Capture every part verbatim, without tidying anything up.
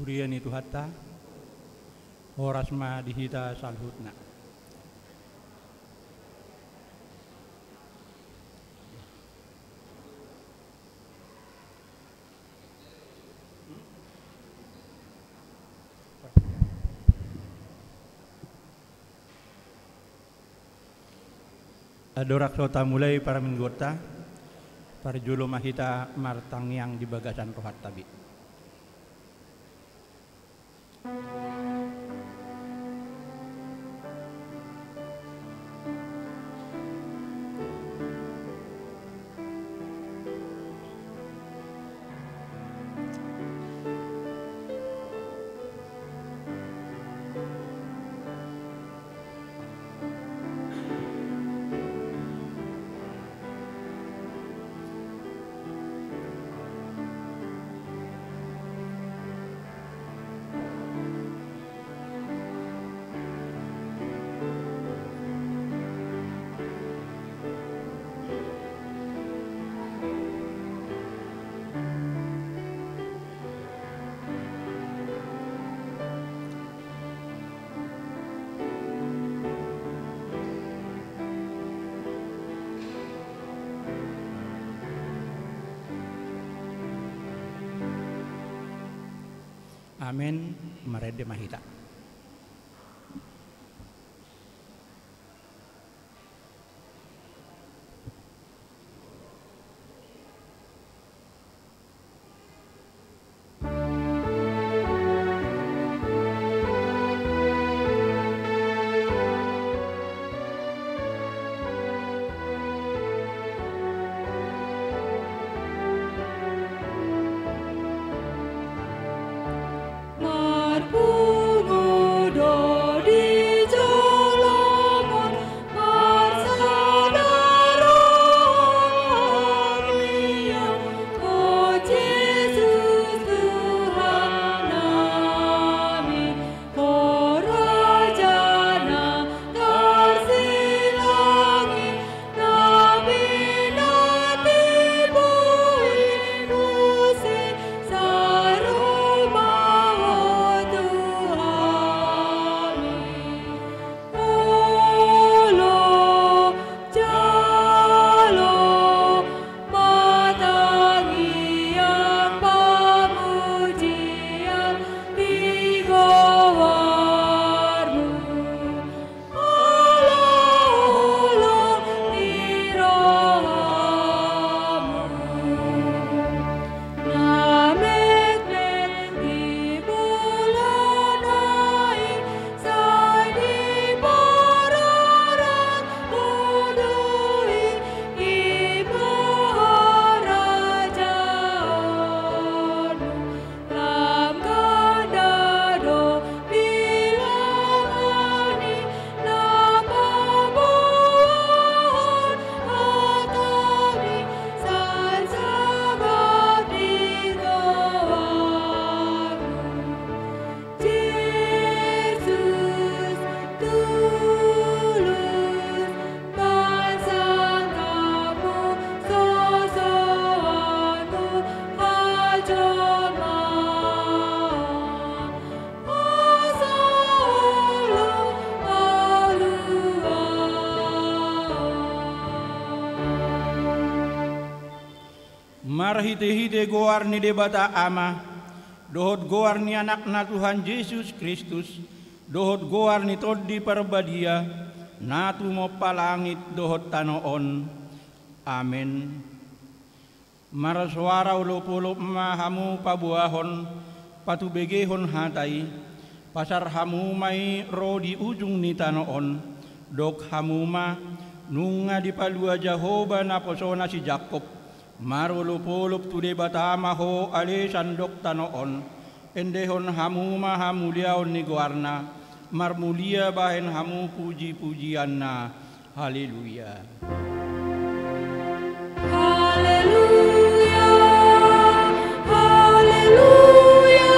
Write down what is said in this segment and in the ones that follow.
Huria ni Tuhanta, horas ma di hita saluhutna. Andorang so tamulai parmingguonta, parjolo ma hita martangiang di bagasan rohanta be. Amen. Marende ma hita. Marpungu do di jolom on, marsada rohami on, o Jesus Tuhan nami, o Raja na tarsilang i, na pinatubu i muse, saur ma ho tu hami. Olo, jalo ma tangiang pamujian di goarmu. Olo, olo ni rohamu. Na metmet di bolona i, sai diparorot ho do i, i ma harajaonmu. Lam ganda do bilangan i, na paboahon hatami, sai sahat di goarmu. Jesus, tulus, pansangkapmu, sosoanmu, hajolmaon, asa olo haluaon. Marhitehite goar ni Debata Ama, dohot goar ni Anakna Tuhan Jesus Kristus, dohot goar ni Tondi Parbadia, na tumompa langit dohot tano on. Amen. Marsoara olopolop ma hamu paboahon, patubegehon hata i, pasar hamu ma i ro di ujung ni tano on, dok hamu ma, nunga dipalua Jahowa naposona si Jakkob, marolopolop tu Debata ma ho ale sandok tano on, endehon hamu ma hamuliaon ni goarna, marmulia bahen hamu pujipujianna. Haleluya. Haleluya, haleluya,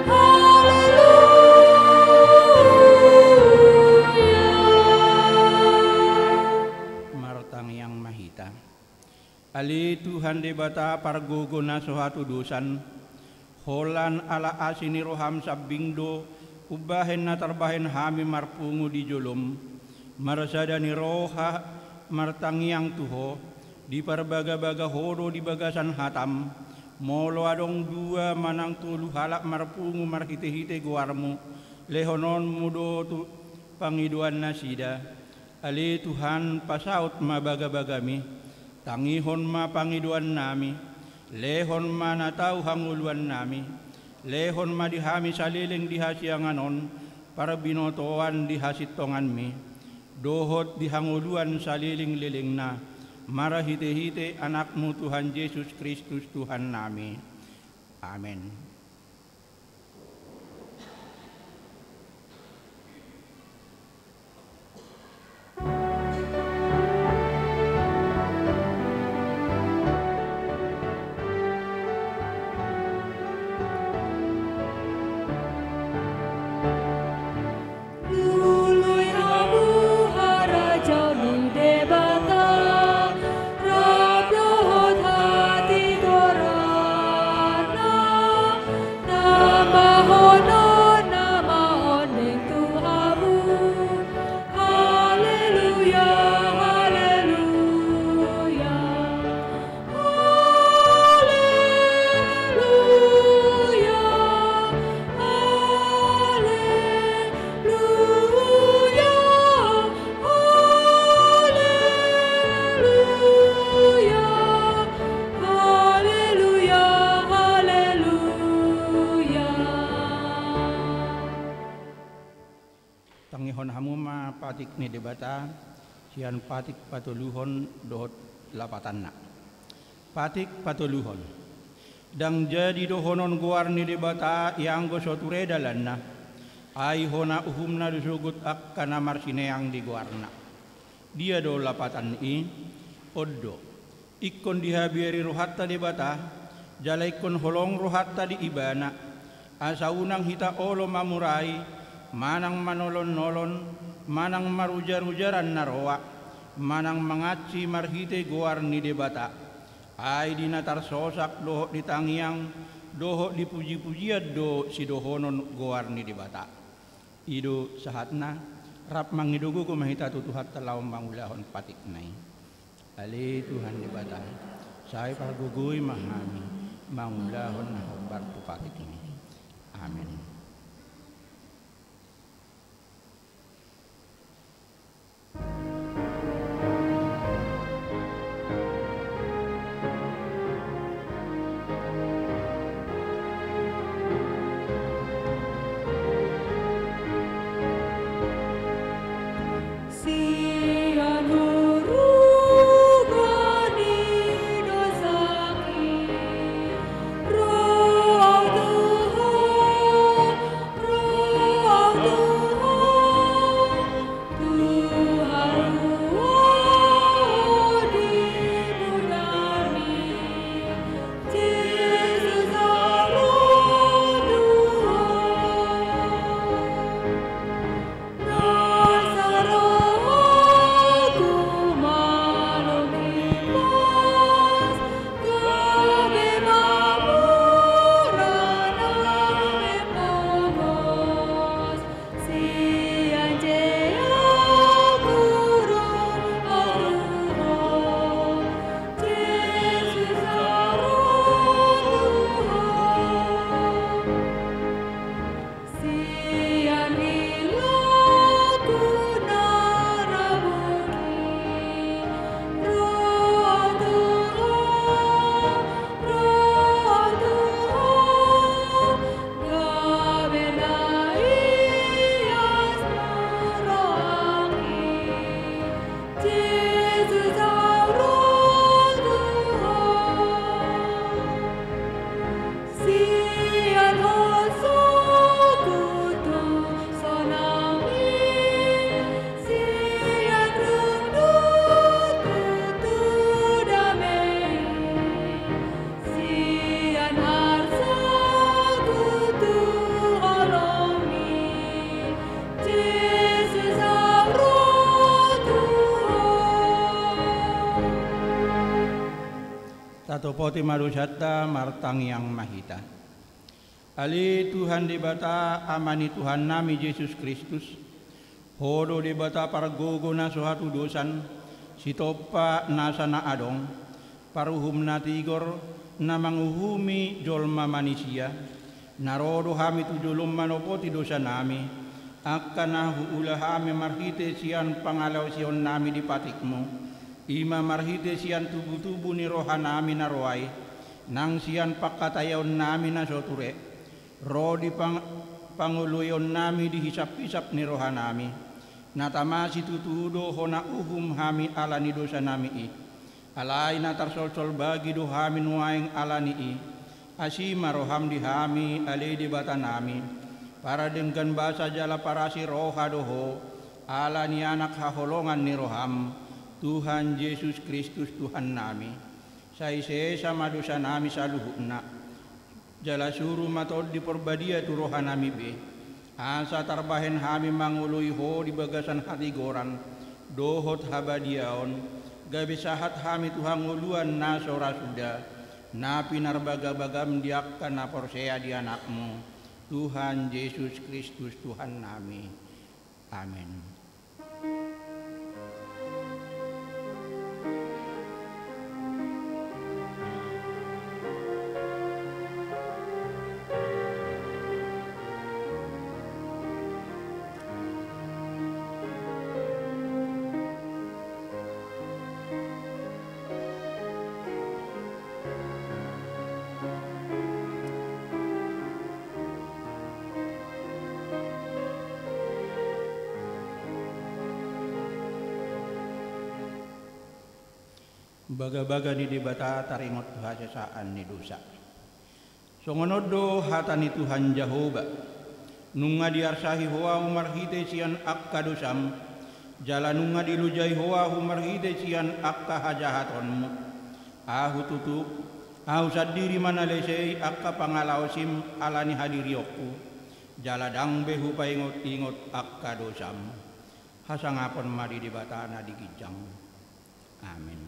haleluya. Martangiang ma hita. Ale Tuhan Debata pargogo na so hatudosan, Holan ala asi ni roham sambing do umbahen na tarbahen hami marpungu di jolom. Marsada ni roha martangiang tu Ho, diparbagabaga Ho do di bagasan hatam. Molo adong dua manang tolu halak marpungu marhitehite goarmu, lehononmu do tu pangidoan nasida. Ale Tuhan, pasaut ma bagabagami, tangihon ma pangidoannami, lehon ma na tau hangoluannami, lehon ma di hami saleleng di hasiangan on parbinotoan di hasintonganmi, dohot di hangoluan salelenglelengna, marhitehite Anakmu Tuhan Jesus Kristus Tuhannami. Amen. Lului hamu harajaon ni Debata, rap dohot hatigoranna, tambahon on na maoning tu hamu. Haleluya, haleluya. Haleluya, haleluya, haleluya, haleluya, haleluya. Tangihon hamu ma patik ni Debata, sian patik patoluhon dohot lapatanna. Patik patoluhon. Ndang jadi dohonon goar ni Debata ianggo so ture dalanna, ai hona uhumna do sogot angka na marsineang di goarna. Dia do lapatan i? On do. Ingkon dihabiari rohanta Debata, jala ingkon holong rohanta di Ibana, asa unang hita olo mamurai, manang manolonolon, manang marujarujaran na roa, manang mangansi marhite goar ni Debata. Ai di na tarsosak dohot di tangiang, dohot di pujipujian do sidohonon goar ni Debata. I do sahatna, rap mangido gogo ma hita tu Tuhanta laho mangulahon patikna i. Ale Tuhan Debata, sai pargogoi ma hami mangulahon na hombar tu patikmi. Amen. Tatopoti ma dosanta, martangiang ma hita. Ale Tuhan Debata, Ama ni Tuhannami Jesus Kristus, Ho do Debata pargogo na so hatudosan, sitompa nasa na adong, paruhum na tigor, na manguhumi jolma manisia. Na ro do hami tu jolom manopoti dosanami, angka na huula hami marhite sian pangalaosionnami di patikmu, i ma marhite sian tubutubu ni rohanami na ro ai, nang sian pangkataionnami na so ture, ro di pang-, pangoloionnami di hisaphisap ni rohanami. Na tama situtu do hona uhum hami ala ni dosanami i. Alai na tarsolsol bagi do hami nuaeng ala ni i. Asi ma roham di hami, ale Debatanami, paradenggan basa jala parasi roha do Ho, ala ni Anak haholongan ni roham, Tuhan Jesus Kristus Tuhannami. Sai sesa ma dosanami saluhutna. Jala suru ma Tondi Porbadia tu rohanami be, asa tarbahen hami mangoloi Ho di bagasan hatigoran dohot habadiaon, gabe sahat hami tu hangoluan na so ra suda, na pinarbagabagam di angka na porsea di Anakmu, Tuhan Jesus Kristus Tuhannami. Amen. Bagabaga ni Debata taringot tu hasesaan ni dosa. Songon on do hata ni Tuhan Jahowa: Nunga diarsahi Ho ahu marhite sian angka dosam, jala nunga dilojai Ho ahu marhite sian angka hajahatonmu. Ahu tutu, Ahu sandiri ma na lesei angka pangalaosim ala ni hadirionku, jala ndang be hupaingotingot angka dosam. Hasangapon ma di Debata na di ginjang. Amen.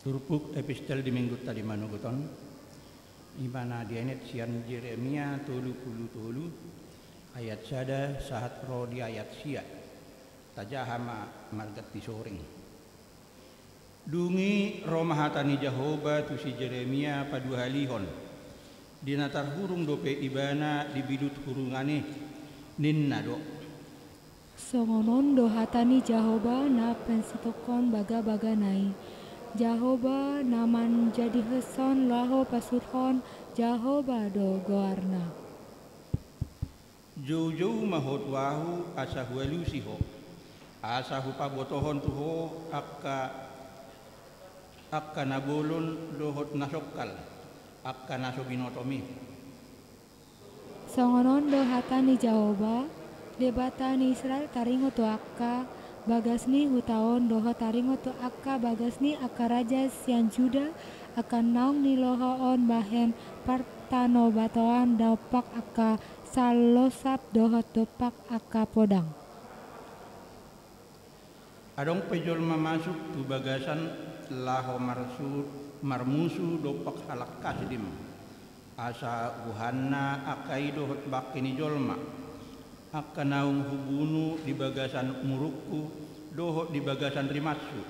Turpuk epistel di minggunta di manogot on, i ma na dienet sian Jeremia tolu pulu tolu, ayat sada sahat ro di ayat sia. Tajaha ma marganti soring. Dung i ro ma hata ni Jahowa tu si Jeremia paduahalihon, di na tarhurung dope ibana di bidut hurungan i, ninna do: Songon on do hata ni Jahowa na pansitongkon bagabagana i, Jahowa na manjadihonshon laho pasuthon, Jahowa do goarna. Joujou ma ho tu ahu, asa hualusi ho, asa hupabotohon tu ho angka, angka na bolon dohot na songkal, angka na so binotom i. Songon on do hata ni Jahowa, Debata ni Israel, taringot tu angka bagas ni huta on dohot taringot tu angka bagas ni angka raja sian Juda, angka naung niloha on bahen partanobatoan dompak angka sallosap dohot dompak angka podang. Adong pe jolma masuk tu bagasan laho marsu-, marmusu dompak halak Kasdim, asa huhanna angka i dohot bangke ni jolma, angka naung hubunu di bagasan murukku dohot di bagasan rimashu,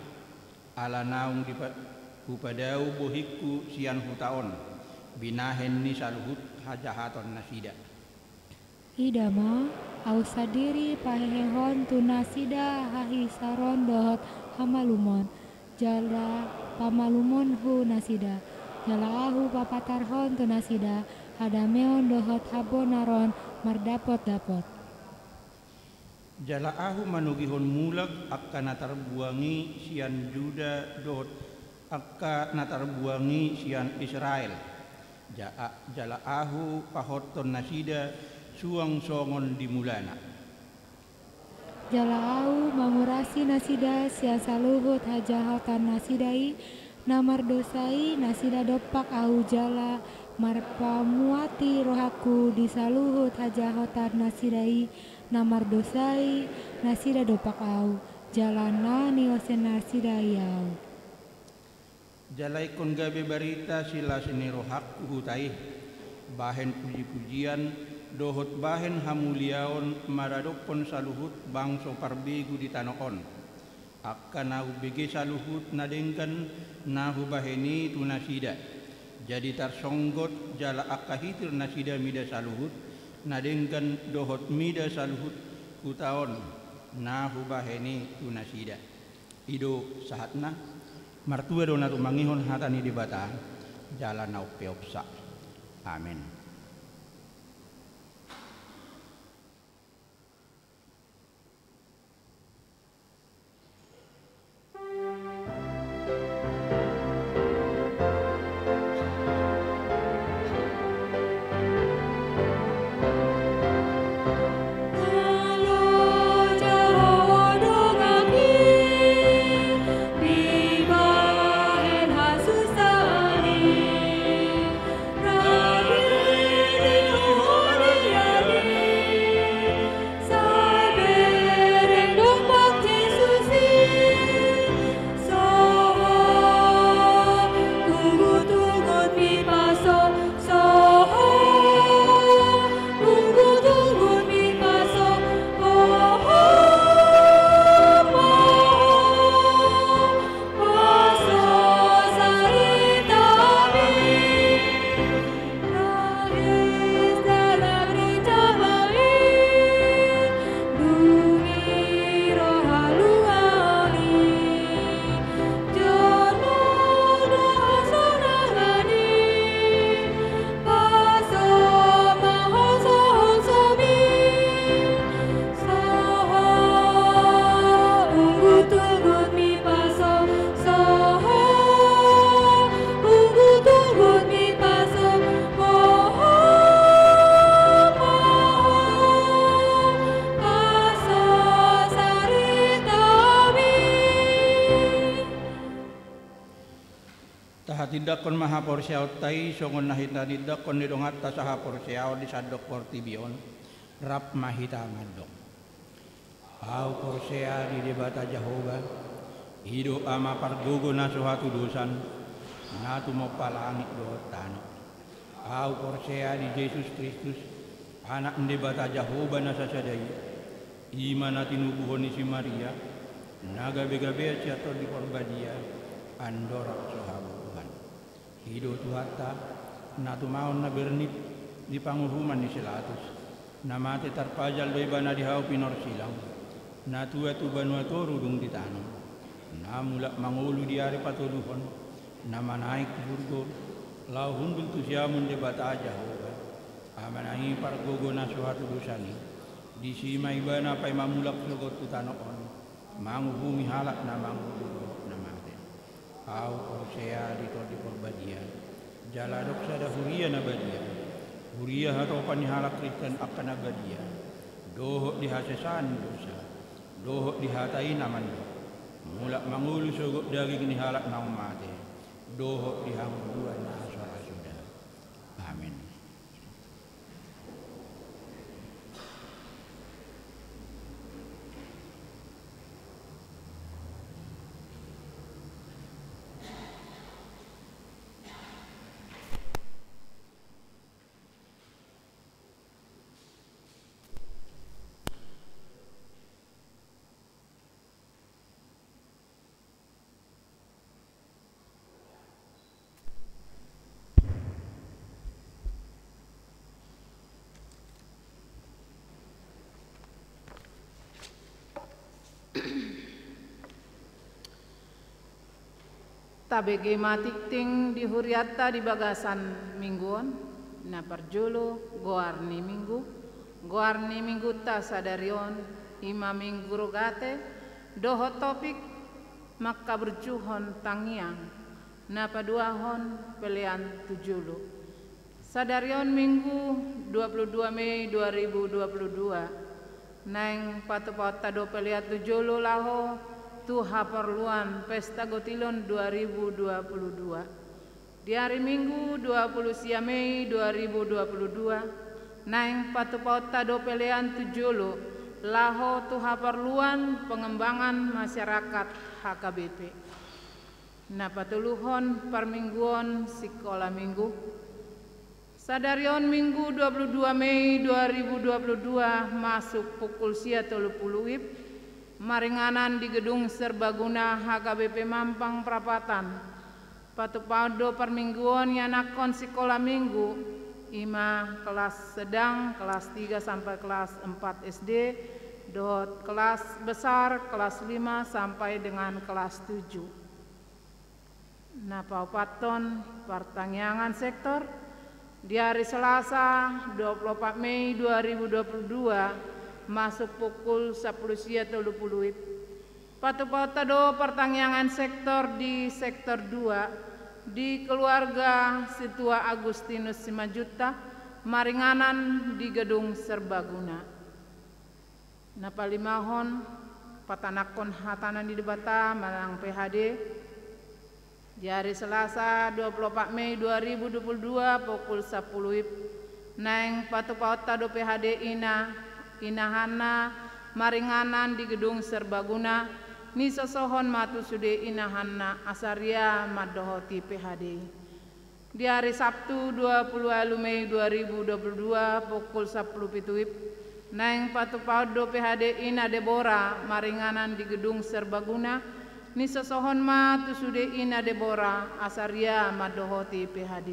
ala naung dipa-, hupadao bohingku sian huta on, binahen ni saluhut hajahatonnasida. Ida ma, ahu sandiri pahehehon tu nasida hahisaron dohot hamalumon, jala pamalumonhu nasida, jala ahu papatarhon tu nasida hadameon dohot habonaron mardapotdapot. Jala ahu manogihon mulak angka na tarbuang i sian Juda dohot angka na tarbuang i sian Israel. Ja-, jala ahu pahothon nasida suang songon di mulana. Jala ahu mangurasi nasida sian saluhut hajahatonnasida i, na mardosa i nasida dompak ahu jala marpamuati rohangku di saluhut hajahatonnasida i, na mardosa i nasida dompak ahu, jala na niosennasida i ahu. Jala ingkon gabe barita silas ni rohangku huta i, bahen pujipujian dohot bahen hamuliaon maradophon saluhut bangso parbegu di tano on. Angka na humbege saluhut na denggan na hubahen i tu nasida, jadi tarsonggot jala angka hitirnasida mida saluhut na denggan dohot mida saluhut huta on na hubahen i tu nasida. I do sahatna. Martua do na tumangihon hata ni Debata, jala na umpeopsa. Amen. Tahatindangkon ma haporseaonta i songon na hinatindanghon ni donganta sahaporseaon di sandok portibi on. Rap ma hita mandok. Ahu porsea di Debata Jahowa, i do Ama pargogo na so hatudosan, na tumompa langit dohot tano. Ahu porsea di Jesus Kristus, Anak ni Debata Jahowa na sasada i, i ma na tinubuhon ni si Maria, na gabegabean sian Tondi Porbadia, andorang so habubuhan. I do Tuhanta, na tumaon na bernit di panguhuman ni si Latus, na mate tarpajal do ibana di hau pinorsilang, na tua tu banua toru dung ditanom, na mulak mangolu di ari patoluhon, na manaek tu surgo, laho hundul tu siamun Debata Jahowa, Amana i pargogo na so hatudosan i, disi ma ibana paima mulak sogot tu tano on, manguhumi halak na mangolu dohot na mate. Ahu porsea di Tondi Porbadia, jala adong sada huria na badia, huria hatopan ni halak Kristen angka na badia, dohot di hasesaan ni dosa, dohot di hata i na mandok, mulak mangolu sogot daging ni halak naung mate, dohot di hangoluan na so ra suda. Amen. Tabege ma tingting di hurianta di bagasan minggu on. Na parjolo, goar ni minggu. Goar ni minggunta sadari on i ma Minggu Rogate, dohot topik mangkaburjuhon tangiang. Na paduahon, pelean tu jolo. Sadari on Minggu, dua puluh dua Mei dua ribu dua puluh dua. Naeng patupaonta do pelean tu jolo laho tu haporluan Pesta Gotilon dua ribu dua puluh dua. Di ari Minggu, dua puluh sia Mei dua ribu dua puluh dua, naeng patupaonta do pelean tu jolo laho tu haporluan pengembangan masyarakat H K B P. Na patoluhon, parmingguon sikola minggu. Sadari on Minggu, dua puluh dua Mei dua ribu dua puluh dua, masuk pukul sia tolu pulu WIB, maringanan di Gedung Serbaguna H K B P Mampang Prapatan. Patupaon do parmingguon ianakhon sikola minggu, i ma kelas sedang, kelas tiga sampai kelas empat S D, dohot kelas besar, kelas lima sampai dengan kelas tujuh. Na paopathon, partangiangan sektor. Di ari Selasa, dua puluh opat Mei dua ribu dua puluh dua, masuk pukul sampulu sia tolu pulu WIB. Patupaonta do partangiangan sektor di sektor dua, di keluarga Sintua Agustinus Simanjuntak, maringanan di Gedung Serbaguna. Na palimahon, patanakhon hata ni Debata manang P H D. Di ari Selasa, dua puluh opat Mei dua ribu dua puluh dua, pukul sampulu WIB, naeng patupaonta do P H D ina, inahanna, maringanan di Gedung Serbaguna, nisosohon ma tu sude inahanna, asa ria mandohoti P H D. Di ari Sabtu, dua puluh ualu Mei dua ribu dua puluh dua, pukul sampulu pitu WIB, naeng patupaon do P H D ina Debora maringanan di Gedung Serbaguna, nisosohon ma tu sude ina Debora, asa ria mandohoti P H D.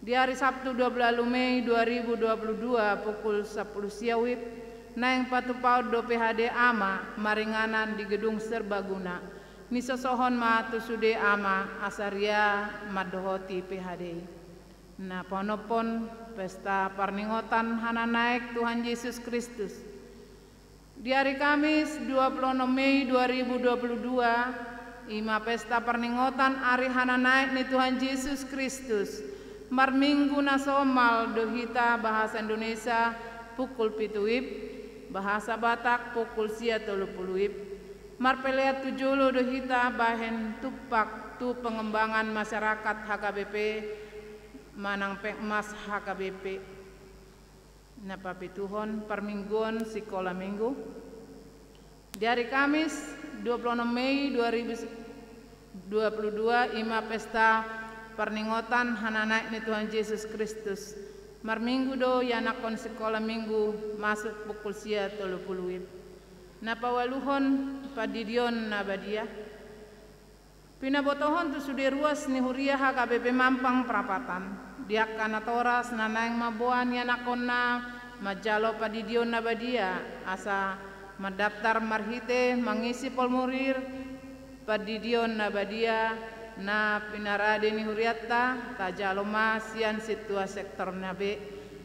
Di ari Sabtu, dua puluh ualu Mei dua ribu dua puluh dua, pukul sampulu sia WIB, naeng patupaon do P H D ama maringanan di Gedung Serbaguna, nisosohon ma tu sude ama, asa ria mandohoti P H D. Na paonomhon, pesta parningotan hananaek Tuhan Jesus Kristus. Di ari Kamis, dua puluh onom Mei dua ribu dua puluh dua, i ma pesta parningotan ari hananaek ni Tuhan Jesus Kristus. Marminggu na somal do hita bahasa Indonesia pukul pitu WIB, bahasa Batak pukul sia tolu pulu WIB. Marpelean tu jolo do hita bahen tumpak tu pengembangan masyarakat H K B P manang Pengmas H K B P. Na papituhon, parmingguon sikola minggu. Di ari Kamis, dua puluh onom Mei dua ribu dua puluh dua, i ma pesta parningotan hananaek ni Tuhan Jesus Kristus. Marminggu do ianakhon sikola minggu, masuk pukul sia tolu pulu WIB. Na paualuhon, pandidion na badia. Pinabotohon tu sude ruas ni huria H K B P Mampang Prapatan, di angka natoras na naeng mamboan ianakhonna manjalo pandidion na badia, asa mandaptar marhite mangisi formulir pandidion na badia na pinarade ni hurianta, tajalo ma sian sintua sektor na be.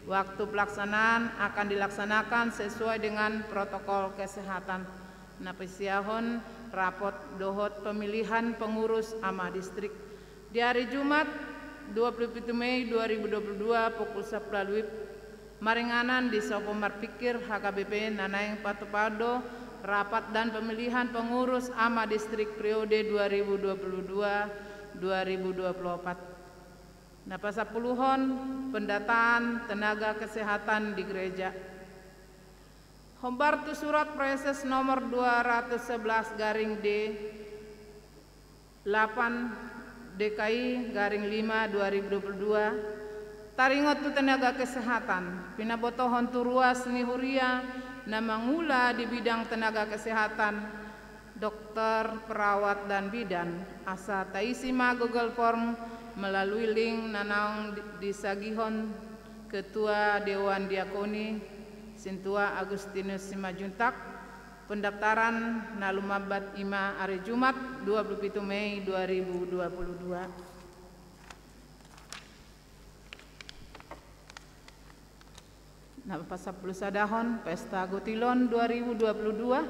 Waktu pelaksanaan akan dilaksanakan sesuai dengan protokol kesehatan. Na pasiahon rapot dohot pemilihan pengurus ama distrik. Di ari Jumat, dua puluh pitu Mei dua ribu dua puluh dua, pukul sampulu ualu WIB, maringanan di Sopo Marpikir H K B P na naeng patupaon do rapat dan pemilihan pengurus ama distrik periode dua ribu dua puluh dua dua ribu dua puluh opat. Na pasampuluhon, pendataan tenaga kesehatan di gereja. Hombar tu surat Praeses nomor dua ratus sebelas garing D, delapan D K I garing lima dua ribu dua puluh dua, taringot tu tenaga kesehatan, pinabotohon tu ruas ni huria na mangula di bidang tenaga kesehatan, dokter, perawat, dan bidan, asa taisi ma Google Form melalui link na naung di-, disagihon Ketua Dewan Diakoni, Sintua Agustinus Simanjuntak, Pendaftaran na lumambat i ma ari Jumat, dua puluh pitu Mei dua ribu dua puluh dua. Na pasampulu sadahon, Pesta Gotilon dua ribu dua puluh dua.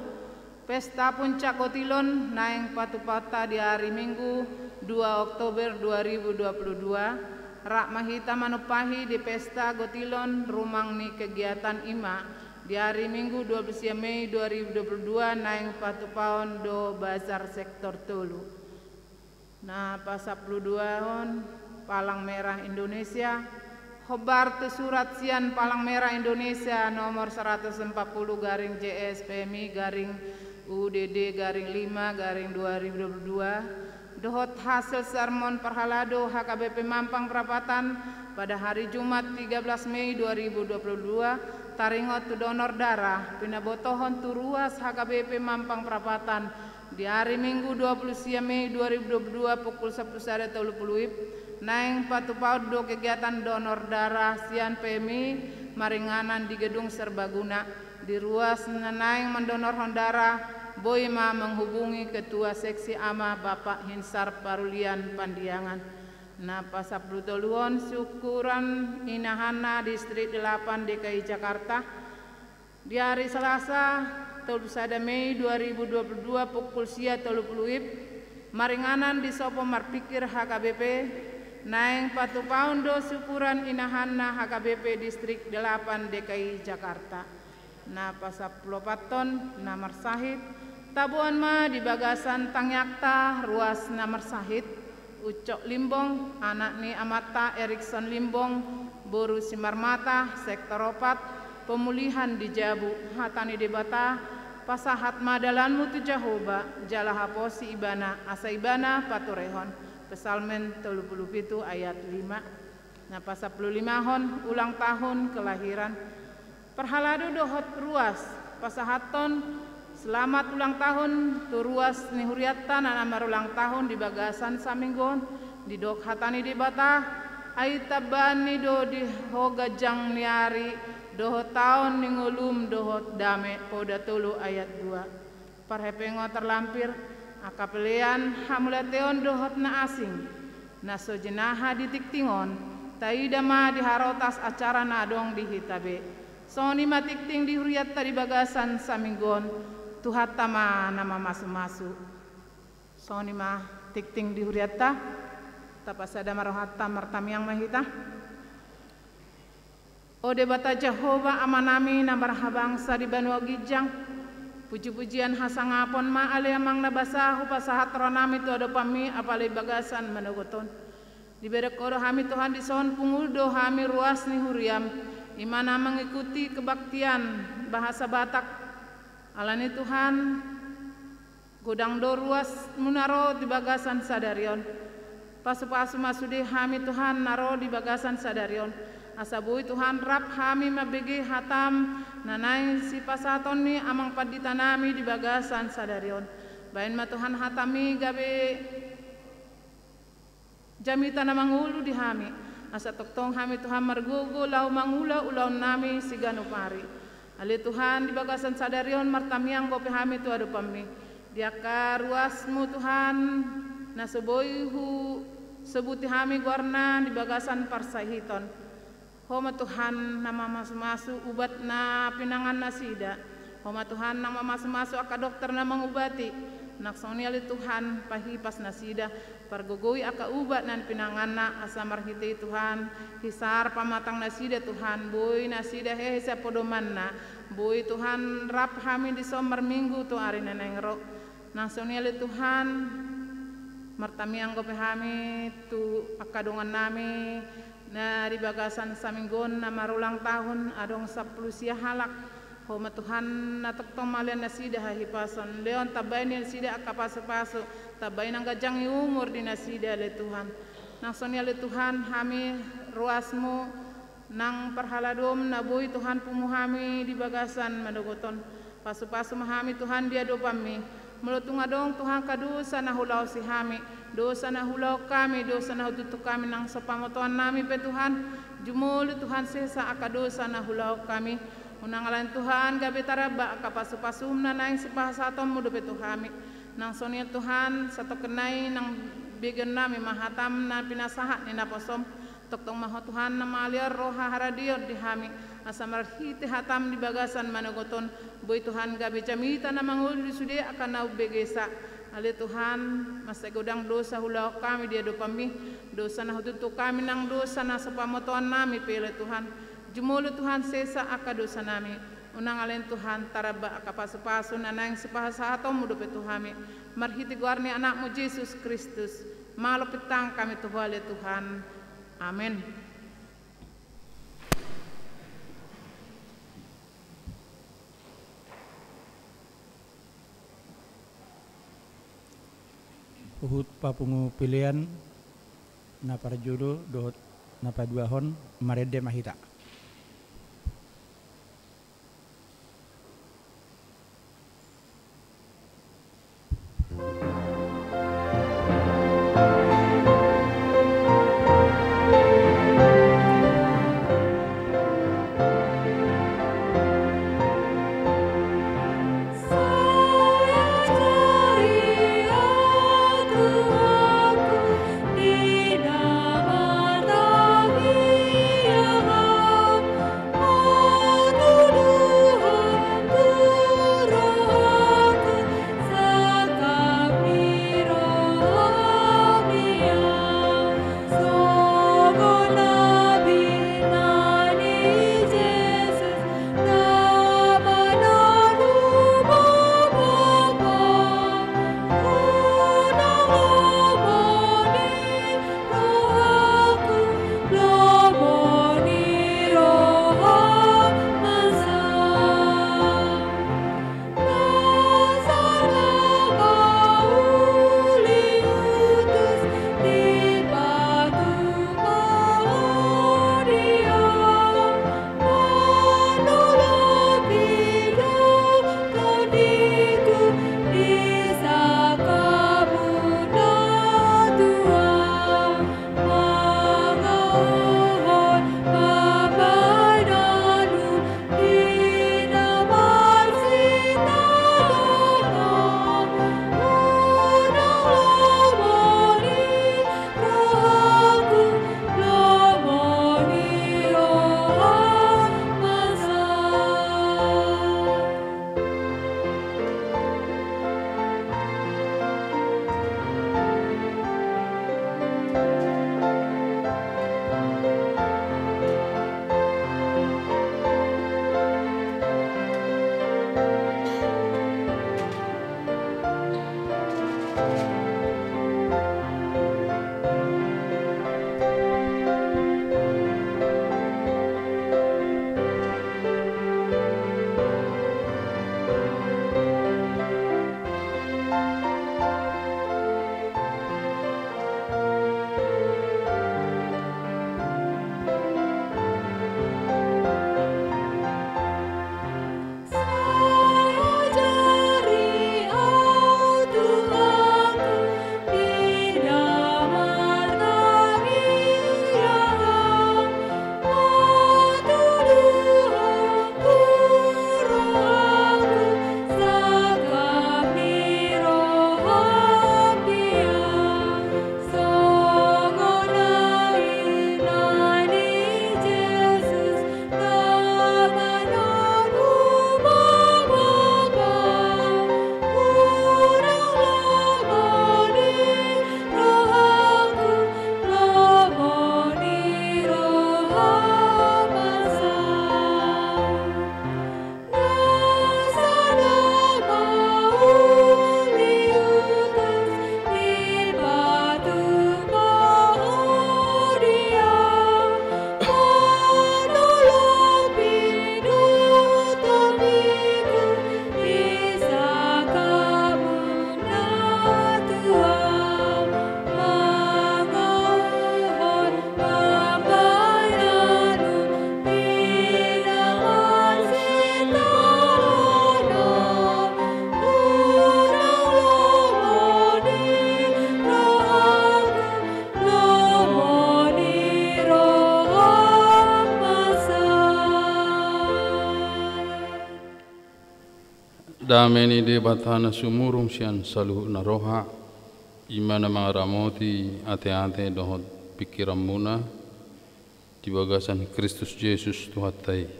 Pesta Puncak Gotilon naeng patupaonta di ari Minggu, dua Oktober dua ribu dua puluh dua. Rap ma hita manumpahi di Pesta Gotilon, rumang ni kegiatan i ma di ari Minggu, dua puluh sia Mei dua ribu dua puluh dua, naeng patupaon do bazar sektor tolu. Na pasampulu duahon, Palang Merah Indonesia. Hombar tu surat sian Palang Merah Indonesia nomor seratus empat puluh garing J S P M I garing U D D garing lima garing dua ribu dua puluh dua, dohot hasil sermon parhalado H K B P Mampang Prapatan pada hari Jumat, tiga belas Mei dua ribu dua puluh dua, taringot tu donor darah, pinabotohon tu ruas H K B P Mampang Prapatan, di ari Minggu, dua puluh sia Mei dua ribu dua puluh dua, pukul sampulu sada tolu pulu WIB, naeng patupaon do kegiatan donor darah sian P M I maringanan di Gedung Serbaguna. Di ruas na naeng mandonorhon darah, boi ma menghubungi Ketua Seksi Ama, Bapak Hinsar Parulian Pandiangan. Na pasampulu toluhon, syukuran inahanna, Distrik Delapan D K I Jakarta. Di ari Selasa, tolu sada Mei dua ribu dua puluh dua, pukul sia tolu pulu WIB, maringanan di Sopo Marpikir H K B P, naeng patupaon do syukuran inahanna H K B P Distrik Delapan D K I Jakarta. Na pasampulu opathon, na marsahit. Taboan ma di bagasan tangiangta ruas na marsahit, Ucok Limbong, anak ni amanta Erikson Limbong, boru Simarmata, sektor opat, pemulihan di jabu. Hata ni Debata, pasahat ma dalanmu tu Jahowa, jala haposi ibana, asa ibana paturehon. Psalmen tolu pulu pitu ayat lima. Na pasampulu limahon, ulang tahun kelahiran. Parhalado dohot ruas, pasahathon selamat ulang tahun tu ruas ni hurianta na marulang tahun di bagasan saminggu on. Didok hata ni Debata, ai tambaan ni do di ho ganjang ni ari dohot taon ni ngolum dohot dame, Poda tolu ayat dua. Parhepeng on tarlampir, angka pelean, hamauliateon dohot na asing na so jinaha di tingting on, taida ma di harotas acara na adong di hita be. Songon i ma tingting di hurianta di bagasan saminggu on, Tuhanta ma na mamasumasu. Songon i ma tingting di hurianta, tapasada ma rohanta, martamiang ma hita. O Debata Jahowa, Amanami na marhabangsa di banua ginjang, pujipujian hasangapon ma ale Amang na basa hupasahat rohanami tu adopanMi, apala di bagasan manogot on. Dibereng Ho do hami Tuhan, dison pungu do hami ruas ni huriaM, i ma na mengikuti kebaktian bahasa Batak. Alani Tuhan, godang do ruasMu na ro di bagasan sadari on. Pasupasu ma sude hami Tuhan na ro di bagasan sadari on, asa boi Tuhan rap hami mambege hataM na naeng sipasahaton ni Amang Panditanami di bagasan sadari on. Baen ma Tuhan hataMi gabe jamita na mangolu di hami, asa tongtong hami Tuhan margogo laho mangula ulaonnami siganup ari. Ale Tuhan, di bagasan sadari on martamiang dope hami tu adopanMi. Di angka ruasMu Tuhan, na so boi husobuti hami goarna di bagasan parsahiton. Ho ma Tuhan na mamasumasu ubat na pinangan nasida. Ho ma Tuhan na mamasumasu angka dokter na mangubati. Nang songon i ale Tuhan, pahipas nasida, pargogoi angka ubat na pinanganna, asa marhite i Tuhan, hisar pamatang nasida Tuhan, boi nasida hehe sian podomanna, boi Tuhan rap hami dison marminggu tu ari na naeng ro. Nang songon i ale Tuhan, martamiang dope hami tu angka dongannami na di bagasan saminggu on na marulang tahun, adong sampulu sia halak. Ho ma Tuhan na tongtong mauliate nasida hahipason, lehon tambai nasida angka pasupasu, tambai nang ganjang ni umur di nasida ale Tuhan. Nang songon i ale Tuhan, hami ruasMu, nang parhaladoM na boi Tuhan pungu hami di bagasan manogot on. Pasupasu ma hami Tuhan di adopanMi. Molo tung adong Tuhan angka dosa na hulaosi hami, dosa na hulaon hami, dosa na hututu hami nang so pamotoannami pe Tuhan, jumolo Tuhan sesa angka dosa na hulaon hami. Unang alani Tuhan gabe taramba angka pasupasum na naeng sipasahatonmu dope tu hami. Nang songon i Tuhan, satongkin nai nang begeonnami ma hatam na pinasahat ni naposom. Tongtong ma Ho Tuhan na mangaliar roha haradeon di hami, asa marhite hatam di bagasan manogot on, boi Tuhan gabe jamita na mangolu di sude angka na umbegesa. Ale Tuhan, mansai godang dosa huulahon hami di adopanmi, dosa na hututu hami nang dosa na so pamotoannami pe ale Tuhan. Jumolo Tuhan sesa angka dosanami. Unang alani Tuhan taramba angka pasupasu na naeng sipasahatonmu dope tu hami. Marhite goar ni Anakmu Jesus Kristus, malo pintangan hami tu Ho ale Tuhan. Amen. Huhut papungu pelean na parjolo dohot na paduahon, marende ma hita. Dame ni Debata na sumurung sian saluhut na roha, i ma na mangaramoti ateate dohot pingkiranmuna di bagasan Kristus Jesus Tuhanta i.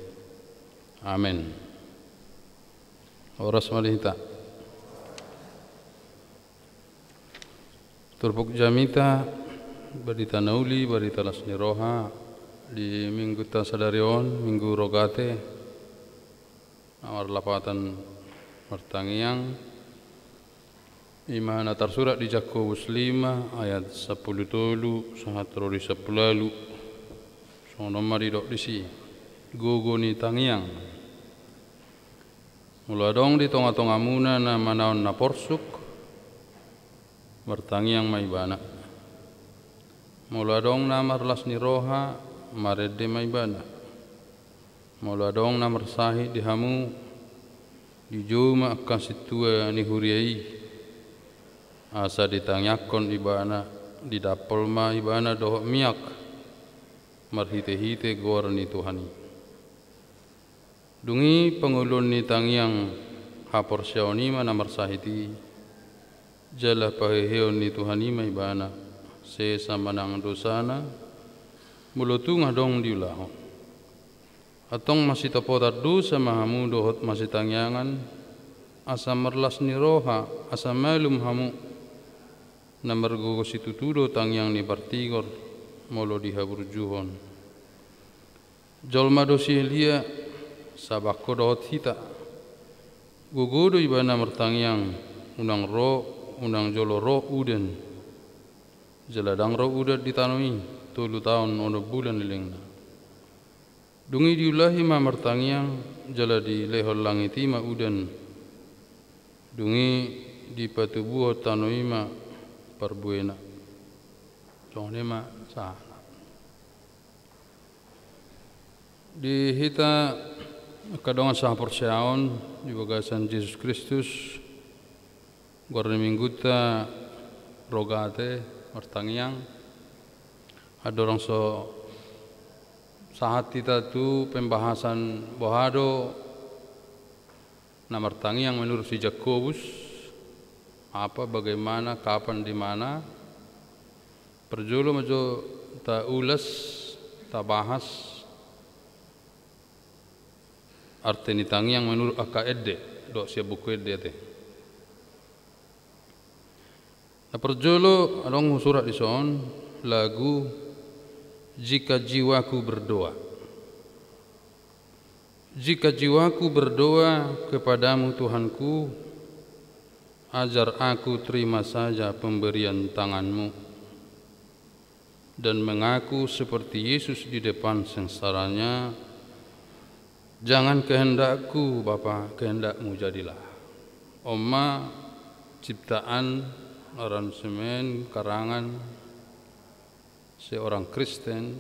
Amen. Horas ma di hita. Turpuk jamita, barita na uli, barita las ni roha, di minggunta sadari on, Minggu Rogate, na marlapatan martangiang, i ma na tarsurat di Jakobus lima ayat sampulu tolu sahat ro di sampulu ualu. Songon on ma didok disi, gogo ni tangiang. Molo adong di tongatongamuna na manaon na porsuk, martangiang ma ibana. Molo adong na marlas ni roha, marende ma ibana. Molo adong na marsahit di hamu, dijou ma angka sintua ni huria i, asa ditangiangkon ibana, didampol ma ibana dohot miak, marhitehite goar ni Tuhan i. Dung i pangoluon ni tangiang haporseaon i ma na marsahit i, jala paheheon ni Tuhan i ma ibana, sesa manang dosana, molo tung adong diulahon. Antong masitopotan dosa ma hamu dohot masitangiangan, asa marlas ni roha, asa malum hamu, na margogo situtu do tangiang ni partigor, molo dihaburjuhon. Jolma do si Elia, sabangko dohot hita. Gogo do ibana martangiang, unang ro, unang jolo ro udan. Jala ndang ro udan di tano i, tolu taon onom bulan lelengna. Dung i diulahi ma martangiang, jala dilehon langit i ma udan. Dung i dipatubuhon tano i ma parbuena. Songon i ma sahatna. Di hita angka dongan sahaporseaon di bagasan Jesus Kristus, goar ni minggunta Rogate, martangiang. Andorang so sahat hita tu pembahasan boha do na martangiang menurut si Jakobus, apa, bagaimana, kapan, di mana, parjolo ma jo taulas, tabahas arte ni tangiang menurut angka ende, dohot sian Buku Ende ate. Na parjolo adong husurat dison, lagu Jika Jiwaku Berdoa. Jika jiwaku berdoa kepada-Mu, Tuhanku, ajar aku terima saja pemberian tangan-Mu dan mengaku seperti Yesus di depan sengsaranya, "Jangan kehendakku, Bapa, kehendak-Mu jadilah." On ma ciptaan, aransemen, karangan seorang Kristen,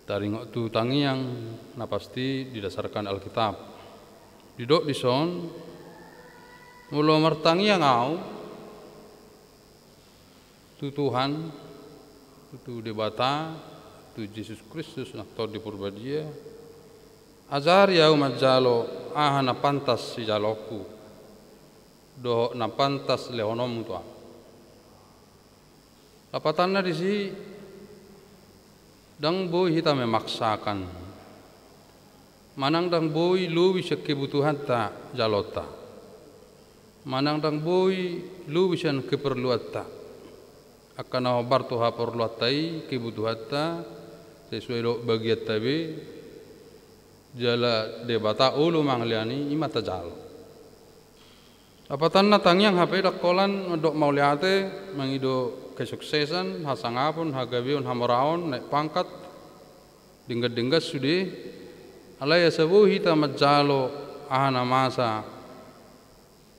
taringot tu tangiang, na pasti didasarkan Alkitab. Didok dison, molo martangiang ahu tu Tuhan, tu Debata, tu Jesus Kristus, na Tondi Porbadia, ajari ahu manjalo aha na pantas sijalonku, dohot na pantas lehononmu tu ahu. Lapatanna disi, ndang boi hita memaksakan. Manang ndang boi lobi sian kebutuhanta jalonta. Manang ndang boi lobi sian keperluanta. Angka na hombar tu haporluanta i, kebutuhanta, sesuai dohot bagianta be, jala Debata olo mangalehon i, i ma tajalo. Lapatanna tangiang hape ndang holan mandok mauliate, mangido kesuksesan, hasangapon, hagabeon, hamoraon, naek pangkat, denggan-denggan sude, alai asa boi hita manjalo aha na masa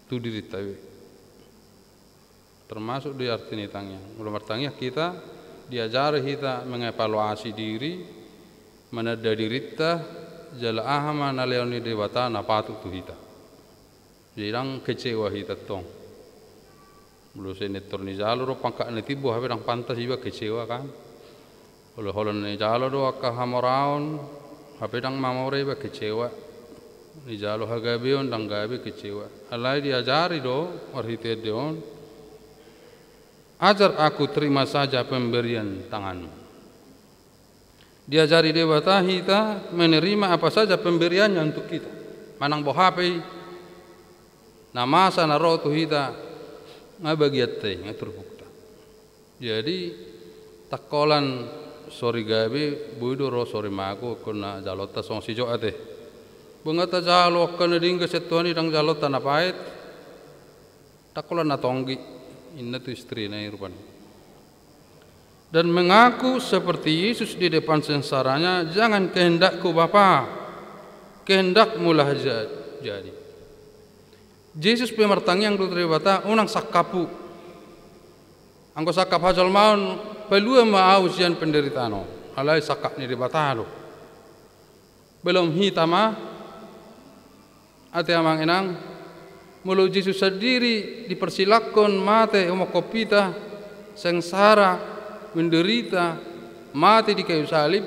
tu dirinta be. Termasuk do i arti ni tangiang. Molo martangiang hita, diajari hita mengevaluasi diri, mananda dirinta, jala aha ma na lehon ni Debata na patut tu hita. Jadi ndang kecewa hita tong. Molo senintor nijalo do pangkat na timbo, hape ndang pantas, iba kecewa kan. Molo holan nijalo do angka hamoraon, hape ndang mamora, iba kecewa. Nijalo hagabeon ndang gabe kecewa. Alai diajari do marhite ende on, "Ajar aku terima saja pemberian tanganmu." Diajari Debata hita menerima apa saja pemberiannya untuk kita. Manang boha pe i na masa na ro tu hita, nga bagianta i, nga turpukta. Jadi, ndang holan sori gabe, boi do ro sori mago, ingkon na jalonta songon si Job ate. Boi nga tajalo angka na denggan sian Tuhan i, ndang jalonta na paet, ndang holan na tonggi, ninna tu istrina i rupani. Dan mengaku seperti Yesus di depan sengsaranya, "Jangan kehendakku, Bapa, kehendak-Mulah ja-, jadi." Jesus pe martangiang do tu Debata, "Unang sangkaphu. Anggo sangkap hajolmaon, palua ma ahu sian penderitaan on." Alai sangkap ni Debata do. Belum hita ma, ate amang inang, molo Jesus sandiri dipersilakhon mate umongkop hita, sengsara, menderita, mate di kayu salib,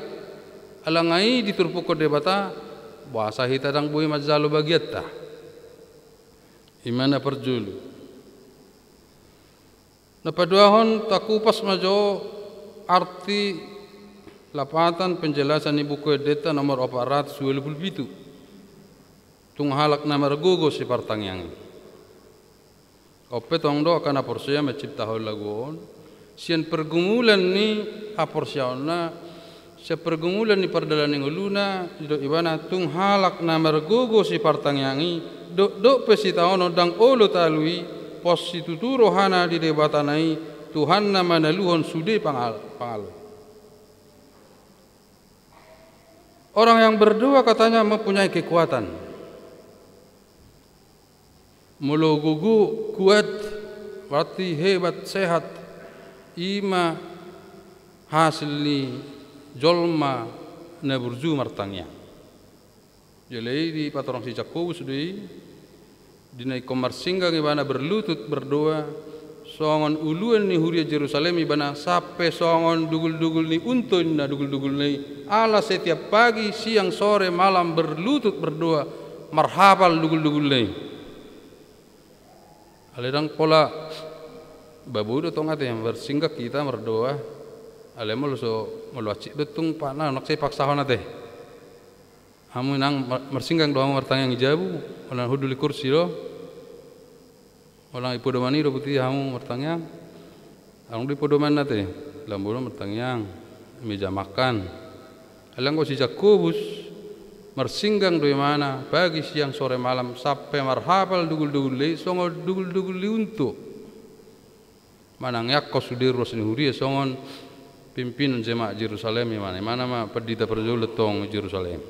ala nga i diturpukhon Debata, boasa hita ndang boi manjalo bagianta? I ma na parjolo. Na paduahon, takupas ma jo arti lapatan penjelasan ni Buku Endenta nomor opat ratus ualu pulu pitu. Tung halak na margogo sipartangiang i. On pe tong do angka na porsea manciptahon lagu on, sian pergumulan ni haporseaonna, sian pergumulan ni pardalanan ni ngoluna, didok ibana, tung halak na margogo sipartangiang i, dokdok pe sitaonon ndang olo talu i, pos situtu rohana di Debatana i, Tuhanna manaluhon sude pangal-, pangalo. Orang yang berdoa katanya mempunyai kekuatan. Molo gogo, kuat, berarti hebat, sehat. I ma hasil ni jolma na burju martangiang. Jala i dipatorang si Jakobus do i, di na ingkon marsinggang ibana berlutut berdoa, songon uluan ni huria Jerusalem ibana, sampe songon dugul-dugul ni unto ninna duguldugulna i, ala setiap pagi, siang, sore, malam berlutut berdoa, marhapal duguldugulna i. Alai ndang pola, ba boi do tong ate, marsinggang hita mardoa. Alai molo so, molo hansit do tung, pa na, unang sai paksahon ate. Hamu inang mar-, marsinggang do hamu martangiang di jabu, unang hundul di kursi do. Unang di podoman i do buti hamu martangiang. Unang di podoman ate, lam bodo martangiang, meja makan. Alai anggo si Jakobus, marsinggang do ibana, pagi, siang, sore, malam, sampe marhapal duguldugulna i, songon duguldugul ni unto. Manangiangkon sude ruas ni huria, songon pimpinan jemaat Jerusalem ibana. Ibana ma pandita parjolo tong Jerusalem.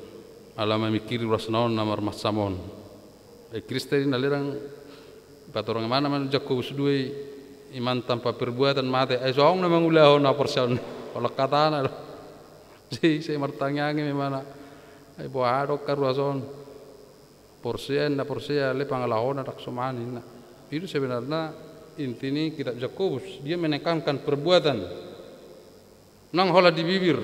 Ala mamingkiri ruasna on na marmansam on. Eh, Kristen i na lerang, patorang ibana ma Jakobus dua i, iman tanpa perbuatan mate. Ai songon na mangulahon haporseaon. Holan hatana do. Sai, sai martangiang i ma ibana. Ai boha do angka ruas on. Porsea, na porsea, alai pangalahona ndang somal ninna. I do sebenarna inti ni kitab Jakobus. Dia menekankan perbuatan. Unang holan di bibir.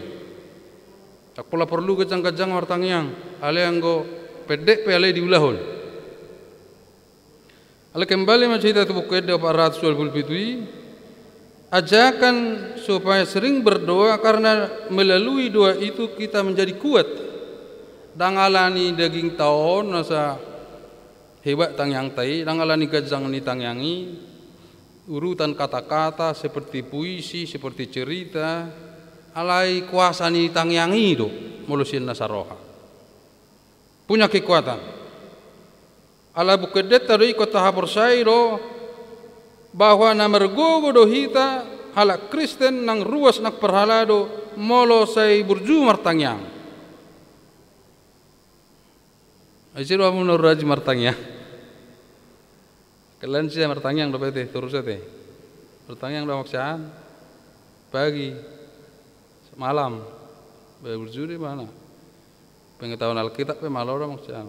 Ndang pola porlu ganjang-ganjang martangiang. Alai anggo pendek pe alai diulahon. Alai kembali ma jo hita tu Buku Ende opat ratus ualu pulu pitu i, ajakan supaya sering berdoa karena melalui doa itu kita menjadi kuat. Ndang ala ni dagingta on asa hebat tangiangta i, ndang ala ni ganjang ni tangiang i, urutan kata-kata seperti puisi, seperti cerita, alai kuasa ni tangiang i do, molo sian na saroha. Punya kekuatan. Ala Buku Endenta do i ingkon tahaporseai do, bahwa na margogo do hita, halak Kristen nang ruas nang parhalado, molo sai burju martangiang. Ai ise do hamu na rajin martangiang? Kalian sia martangiang dope ate, torus ate. Martangiang do hamu sian pagi, malam. Baru burju do ibana. Pengetahuan Alkitab pe malo do hamu sian.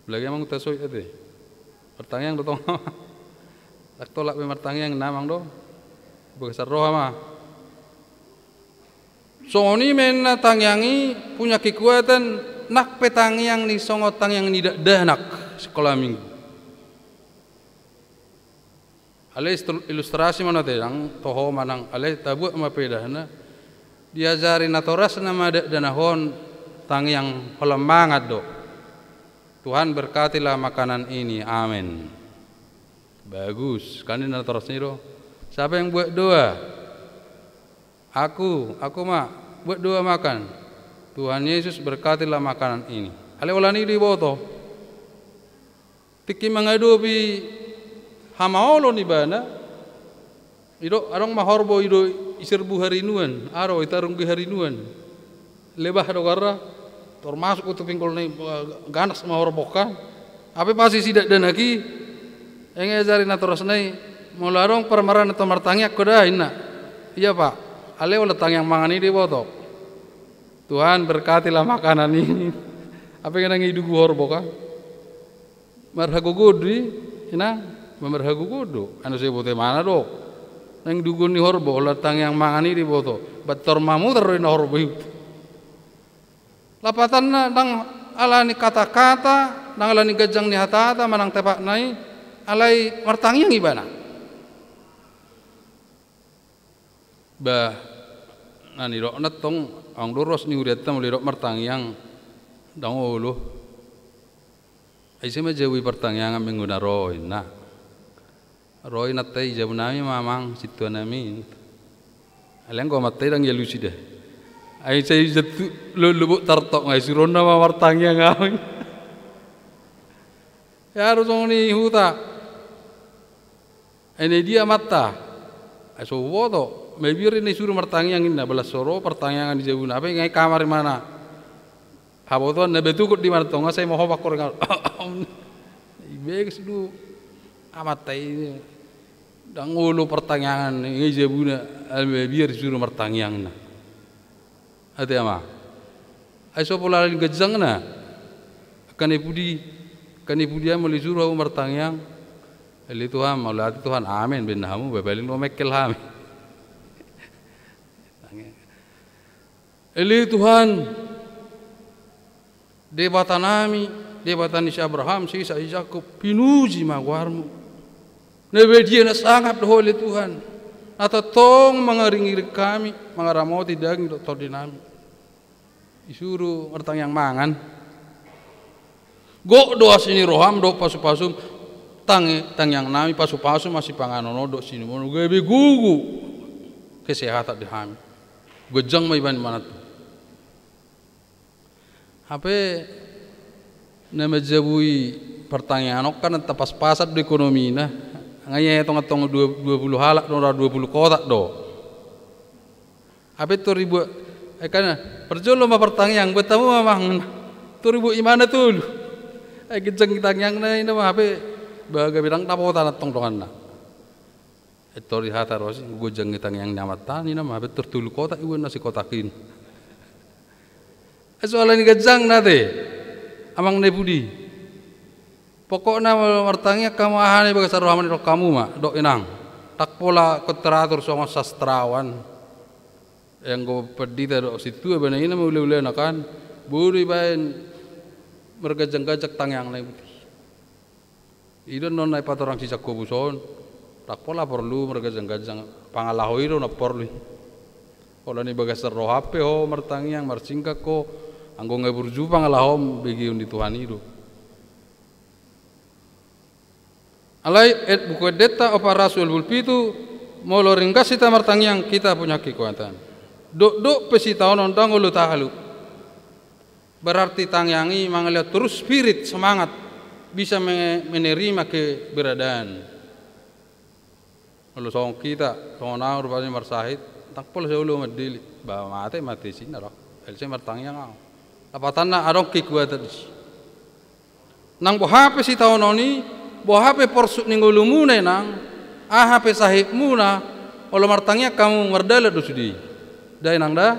Apalagi amang tasoit ate. Martangiang do tong. Ndang tolap be martangiang ninna amang do. Bagasan roha ma. Songon i ma ninna tangiang i punya kekuatan Nang pe tangiang ni songon tangiang ni dakdanak sikola minggu. Alai ilustrasi ma nate, nang toho manang alai tabuat ma pedahna. Diajari natorasna ma dakdanak on tangiang holan mangan do. Tuhan berkatilah makanan ini. Amen. Bagus, kan i natorasna i do. Siapa yang buat doa? Aku, aku ma buat doa makan. Tuhan Yesus berkatilah makanan ini. Alai holan i do diboto. Tingki mangadopi hamaolon ibana, i do adong ma horbo i do i serbu harinuan, aro i tarunggi harinuan. Lebah do garra, tor masuk tu pinggol na i, ganas ma horbo kan. Hape pasti si dakdanak i, eng ajari natorasna i, molo adong parmaraan na to martangiang ho da inna. Iya Pak, alai holan tangiang mangan i diboto. Tuhan berkatilah makanan ini. Hape nang i dugu horbo kan. Marhagogo do i, inang, marhagogo do. Anu sai bote mana do. Nang dugu ni horbo, holan tangiang mangan i diboto. Ba tor mamutar do inna horbo i. Lapatanna ndang ala ni kata-kata, ndang ala ni ganjang ni hatata, manang tepatna i, alai martangiang ibana. Bah, na nidokna tong, adong do ruas ni hurianta molo didok martangiang, ndang olo. Ai ise ma jabu i partangiangan minggu na ro inna. Ro i nanta i jabu nami ma amang sintua nami. Alai anggo amanta i ndang dialusi da. Ai sai jattu lobok tartok ngai suruonna ma martangiang au. Ia do songon i huta. Ai na dia amanta. Ai so huboto. Mabiar i na isuru martangiang inna, balas so ro partangiangan di jabuna. Hape ngai kamar i mana. Habotoan na betukut di mana tonga sai mahoba koringan. Ibeges do amanta i. Ndang olo partangiangan ngai jabuna, alai biar isuru martangiang na. Ate ama. Ai so pola ala ni ganjangna. Angka na i pudi, angka na i pudi molo isuru hamu martangiang. Ale Tuhan, mauliate Tuhan, amen baen hamu, baen paling do mengkel hami. Ale Tuhan, Debata nami, Debata ni si Abraham, si Isak, si Jakob, pinuji ma goarmu. Na badia na sangap do ho ale Tuhan, na tongtong mangiringiring hami, mangaramoti daging dohot tondi nami. Isuru martangiang mangan. Gok do asi ni roham dohot pasupasum, tangi-, tangiang nami pasupasum asi panganon on dohot sinuman on gabe gogo kesehatan di hami. Ganjang ma i baen manat. Hape na manjabui partangiangan on kan na tapaspasan do ekonomina. Nga ia tong-tong dua, dua pulu halak do, dua pulu kotak do. Hape tor dibuat, ai kan parjolo ma partangiang, buat hamu ma mangan. Tor dibuat imana tolu. Ai ganjang tangiangna inna ma hape, ba gabe ndang dapotan antong donganna. Ai tor di hata rosi, ganjang tangiang ni amanta ninna ma, hape tor tolu kotak ibuat na sikotak i. Ai so ala ni ganjangna ate, amang na i pudi. Pokokna molo martangiang hamu aha na i bagasan rohamu nidok hamu ma, dok inang. Ndang pola konteratur songon sastrawan. Anggo pandita dohot sintua bana inna ma ulaulana kan. Boi do ibaen marganjangganjang tangiangna i pudi. I do annon na ipatorang si Jakobus on. Ndang pola porlu marganjangganjang, pangalaho i do na porlu i. Holan i bagasan roham pe ho martangiang, marsingkat ho, anggo nga burju pangalahom, begeon ni Tuhan i do. Alai et buku endenta opat ratus dua pulu pitu, molo ringgas hita martangiang, kita punya kekuatan. Dokdok pe sitaonon ndang olo tahalup. Berarti tangiang i mangalehon terus spirit, semangat, bisa me-, menerima keberadaan. Molo songon hita, songon au rupani marsahit, ndang pola sai olo mandele, ba mate, mate sinna do. Alai sai martangiang au. Lapatanna adong kekuatan disi. Nang boha pe sitaonon i, boha pe porsuk ni ngolumuna inang, aha pe sahitmuna, olo martangiang hamu mardalan do sude i. Da inang da?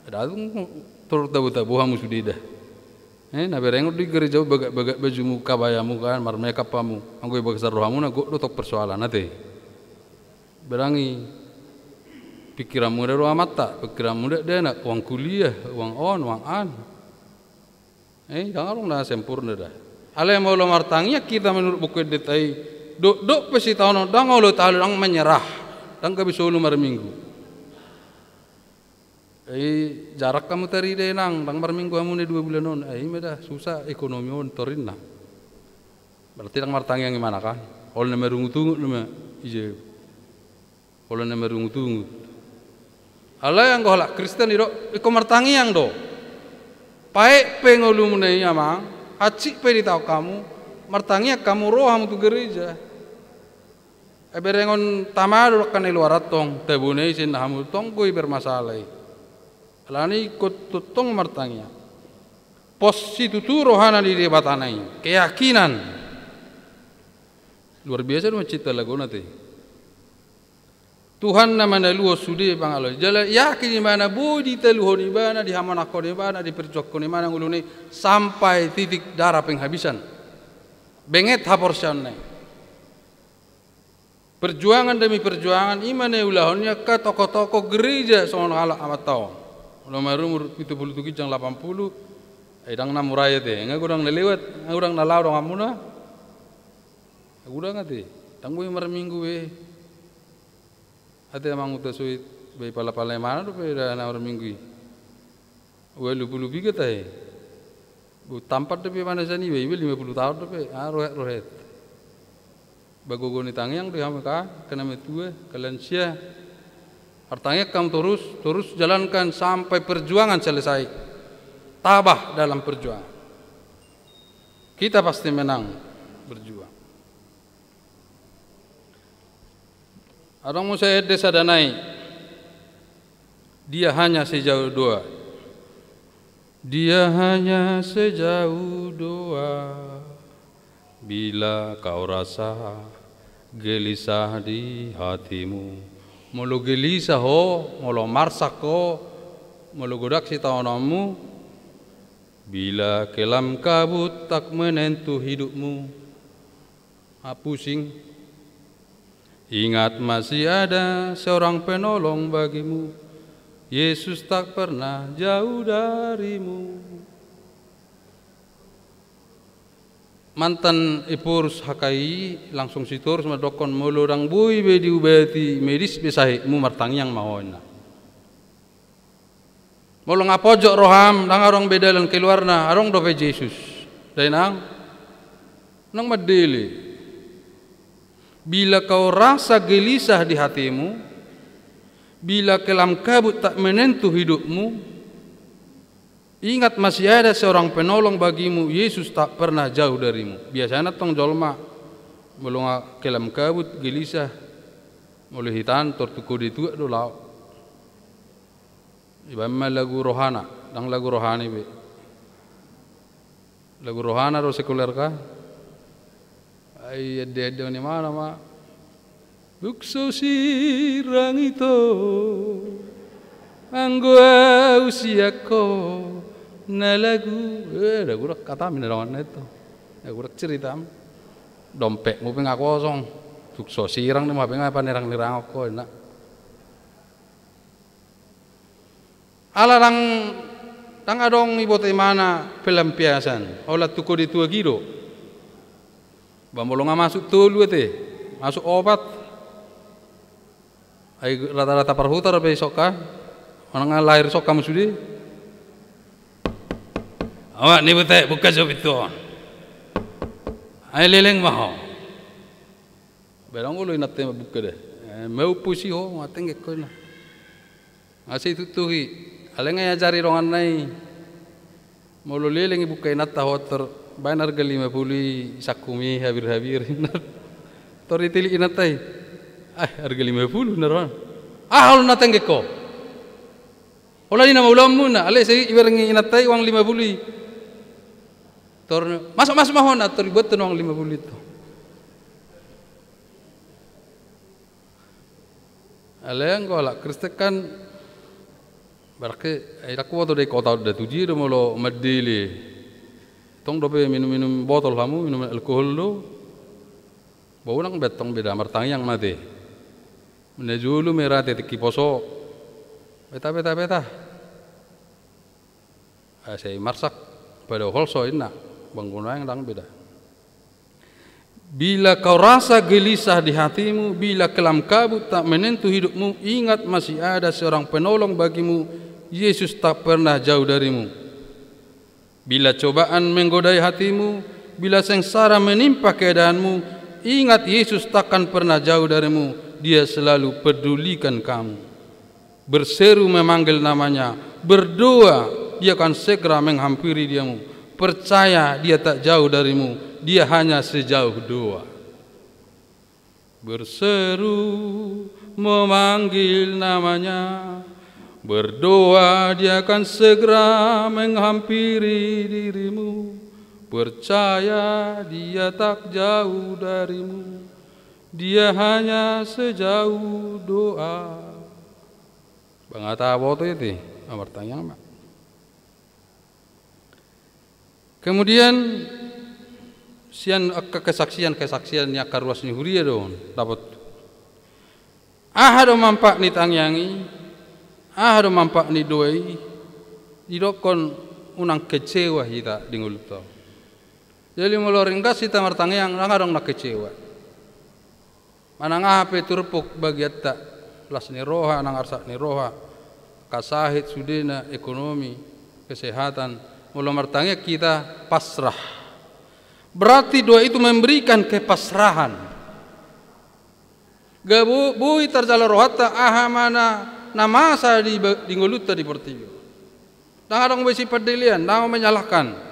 Da tung tor tabo-tabo hamu sude da. Eh, na bereng do i gareja bagak-bagak bajumu, kabayamu kan, marmekap hamu. Anggo i bagasan rohamuna gok do tong persoalan ate. Bereng i pikiranmu da do amanta, pikiranmu da dakdanak, uang kuliah, uang on, uang an. Eh, ndang adong na sempurna da. Alai molo martangiang hita menurut Buku Endenta i, dokdok pe sitaonon, ndang olo talu, ndang menyerah, ndang gabe solu marminggu. Eh, jarang hamu tarida, Inang, ndang marminggu hamu na dua bulan on. Eh, ima da, susah ekonomi on torinna. Berarti ndang martangiang ibana kan? Olo na marungutungut nama ija. Olo na marungutungut. Alai anggo halak Kristen i do, ingkon martangiang do. Paet pe ngolumuna i, Amang, hansit pe ditaon hamu, martangiang hamu, ro hamu tu gereja. Ai berengon tama do dangka na i luar antong, tabo na i sian hamu, tong do i bermasalah i. Alani ingkon tongtong martangiang. Pos situtu rohana di Debatana i, keyakinan. Luar biasa do mancinta lagona te. Tuhan na manaluhon sude pangalaho i. Jala yakin ibana boi ditaluhon ibana, dihamonanghon ibana, diperjuanghon ibana ngoluna i sampai titik darah penghabisan. Benget haporseaonna i. Perjuangan demi perjuangan, ima na iulahon ni angka tokoh-tokoh gereja songon halak amanta on. Olo marumur pitu pulu tu ginjang lapan pulu, ai ndang na mura i ate. Nga godang na lewat, nga godang na laho donganmuna. Nga godang ate. Ndang boi marminggu be. Ate amang, uta soit, be pala-pala imana dope da na marminggu i. Ualu pulu piga tahe. Bo tampat dope manasan iba, iba lima pulu taon dope, ah, rohet-rohet. Ba gogo ni tangiang do i hamu angka, angka na matua, angka lansia. Martangiang hamu torus, torus jalankan sampai perjuangan selesai. Tabah dalam perjuangan. Kita pasti menang berjuang. Adong muse ende sada nai. Dia hanya sejauh doa. Dia hanya sejauh doa. Bila kau rasa gelisah di hatimu. Molo gelisah ho, molo marsak ho, molo godang sitaononmu. Bila kelam kabut tak menentu hidupmu. Ah, pusing. Ingat, masih ada seorang penolong bagimu. Yesus tak pernah jauh darimu. Mantan Ephorus H K I langsung sitorus mandokkon, molo ndang boi be diubati medis be sahitmu, martangiang ma ho, ninna. Molo nga pojok roham, ndang adong be dalan keluarna, adong dope Jesus. Dainang, unang mandele. Bila kau rasa gelisah di hatimu, bila kelam kabut tak menentu hidupmu, ingat, masih ada seorang penolong bagimu, Yesus tak pernah jauh darimu. Biasana tong jolma, molo nga kelam kabut, gelisah, molo hita an tor tu kode tuak do laho. Ibaen ma lagu rohana, ndang lagu rohani be. Lagu rohana do sekeluarga. Ai ende-ende on imana ma. Tung so sirang ito, anggo au sian ho na lagu. Eh, ndang godang hatami na dongan na i to. Ndang godang ceritam. Dompetmu pe nga kosong. Tung so sirang, ima pe nga panirang-nirangon ho, ninna. Ala ndang, ndang adong iboto imana pelampiasan, holan tu kode tuak i do. Ba molo nga masuk tolu ate, masuk opat. Ai rata-rata parhuta dope i songka, manang nga lahir songka ma sude. Amak ni buta, buka jo pintu on. Ai leleng ma ho. Ba ndang olo inanta i mambuka da. Eh, maupus i ho, nga tenggek ho, ninna. Nga sai itutuhi, alai nga iajari donganna i. Molo leleng ibuka inanta ho, tor baen arga lima pulu i sangkumi habir-habir, ninna. Tor ditilik inanta i. Ah, arga lima pulu, ninna rohana. Ah, olo na tenggek ho. Holan i nama ulaonmu, ninna, alai sai ibereng inanta i uang lima pulu i. Tor, masuk, masuk ma ho, ninna, tor dibuat tu uang lima pulu i tu. Alai anggo halak Kristen kan, berarti, ai ndang huboto da i kota on da tu dia do molo mandele. Tong dope minum-minum botol hamu, minum alkohol do. Ba unang be tong be da, martangiang ma ate. Najolo ma i ra ate tingki poso. Beta, beta, beta. Asa i marsak. Pada holso inna, bangguna yang dang beda. Bila kau rasa gelisah di hatimu, bila kelam kabut tak menentu hidupmu, ingat masih ada seorang penolong bagimu, Yesus tak pernah jauh darimu. Bila cobaan menggodai hatimu, bila sengsara menimpa keadaanmu, ingat Yesus takkan pernah jauh darimu, Dia selalu pedulikan kamu. Berseru memanggil namanya, berdoa, Dia akan segera menghampiri diamu. Percaya Dia tak jauh darimu, Dia hanya sejauh doa. Berseru memanggil namanya, berdoa Dia akan segera menghampiri dirimu. Percaya Dia tak jauh darimu, Dia hanya sejauh doa. Bangata boto iti, martangiang ma. Kemudian sian angka kesaksian-kesaksian ni angka ruas ni huria do on dapot. Aha do manfaat ni tangiang i? Aha do manfaat ni doa i? Didokkon unang kecewa hita di ngolunta. Jadi molo ringgas hita martangiang, ndang adong na kecewa. Manang aha pe turpuk bagianta, las ni roha nang arsak ni roha, angka sahit sudena, ekonomi, kesehatan, molo martangiang hita pasrah. Berarti doa itu memberikan kepasrahan. Ga bo-, boi tarjalo rohanta aha ma na, na masa di ba-, di ngolunta di portibi on. Ndang adong be sipandelean, ndang menyalahkan.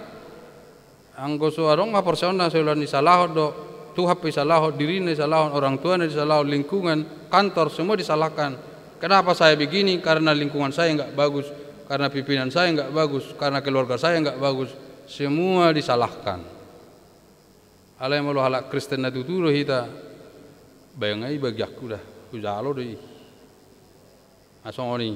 Anggo so adong haporseaonna, so ula ni salahon do, Tuhan pe isalahon, dirina isalahon, orang tuana isalahon, lingkungan, kantor, semua disalahkan. Kenapa saya begini? Karena lingkungan saya nggak bagus, karena pimpinan saya nggak bagus, karena keluarga saya nggak bagus. Semua disalahkan. Alai molo halak Kristen na tutu do hita, baen i bagianku da, hujalo do i. Asongon i.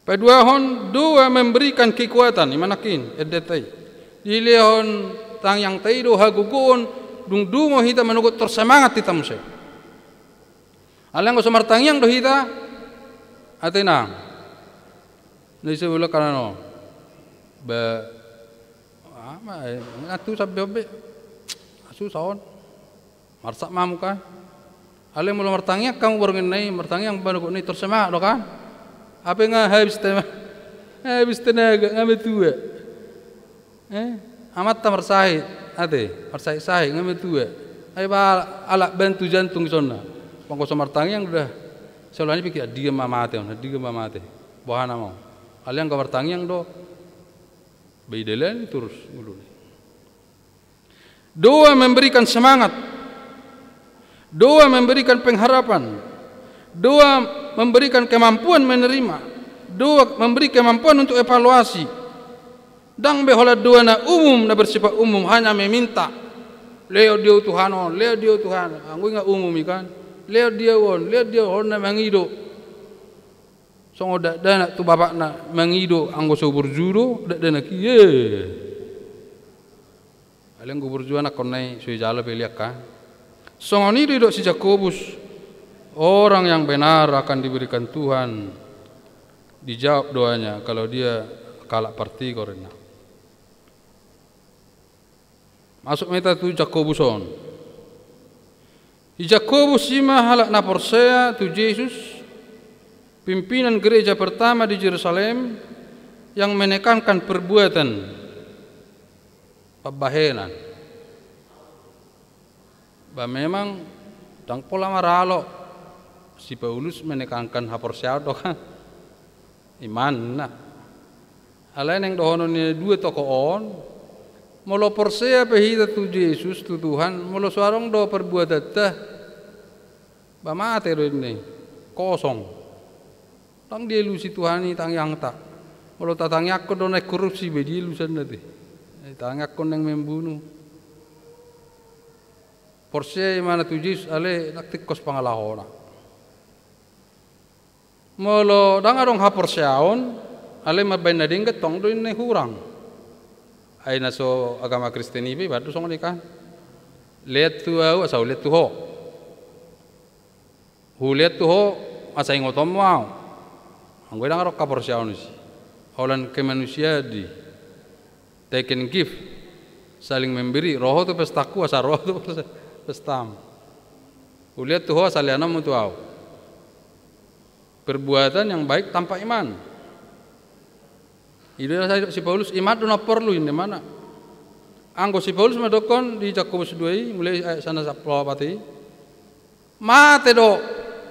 Paduahon, doa memberikan kekuatan, ima nangkin, endenta i. Dilehon tangiangta i do hagogoon, dung dungo hita manogot, tor semangat hita muse. Alai anggo so martangiang do hita, ate nang. Na ise ula kanan on. Ba, ama, eh, ngatu sampe ombe. Susah on. Marsak ma hamu kan. Alai molo martangiang hamu borngin na i, martangiang manogot na i, tor semangat do kan. Hape nga habis tema-, habis tenaga, nga matua. Eh, amanta marsahit, ate, marsahit-sahit, nga matua. Ai ba alak bantu jantung isonna. Anggo so martangiang do da. Sai ula ni pikir, andigan ma mate on, andigan ma mate. Boha nama on. Alai anggo martangiang do. Ba idalani torus ngoluna. Doa memberikan semangat. Doa memberikan pengharapan. Doa memberikan kemampuan menerima. Doa memberi kemampuan untuk evaluasi. Ndang be holan doa na umum, na bersifat umum, hanya meminta. Lehon di ahu Tuhan on, lehon di ahu Tuhan. Anggo i nga umum i kan. Lehon di ahu on, lehon di ahu on, na mangido. Songon dakdanak tu bapakna mangido anggo so burju do, dakdanak i, eh. Alai anggo burju anakkonna i so ijalo pe liak kan. Songon i do didok si Jakobus, orang yang benar akan diberikan Tuhan, dijawab doanya kalau dia halak partigor, ninna. Masuk ma hita tu Jakobus on. Si Jakobus i ma halak na porsea tu Jesus, pimpinan gereja pertama di Jerusalem, yang menekankan perbuatan, pambahenan. Ba memang ndang pola maralo si Paulus menekankan haporseaon do kan. Imanna. Alai naeng dohonon ni na dua tokoh on, molo porsea pe hita tu Jesus, tu Tuhan, molo so adong do perbuatanta, ba mate do ninna i, kosong. Ndang dielusi Tuhan i tangiangta. Molo tatangiangkon do naeng korupsi, ba dielusi ninna i. Tangiangkon naeng membunuh. Porsea imana tu Jesus, alai ndang tingkos pangalahona. Molo ndang adong haporseaon, alai mambaen na denggan, tong do ninna i hurang. Ai na so agama Kristen i pe, ibaen do songon i kan. Lean tu ahu, asa hulean tu ho. Hulean tu ho, asa ingotonmu ahu. Anggo i ndang adong haporseaon disi. Holan kemanusiaan do i. Take and give, saling memberi. Ro ho tu pestangku, asa ro ho tu pestam. Huliat tu ho, asa leanonmu tu ahu. Perbuatan yang baik tanpa iman. I do na sai didok si Paulus, iman do na porlu, inna imana. Anggo si Paulus mandokkon di Jakobus dua i, mulai ayat sada sampulu opat i, mate do,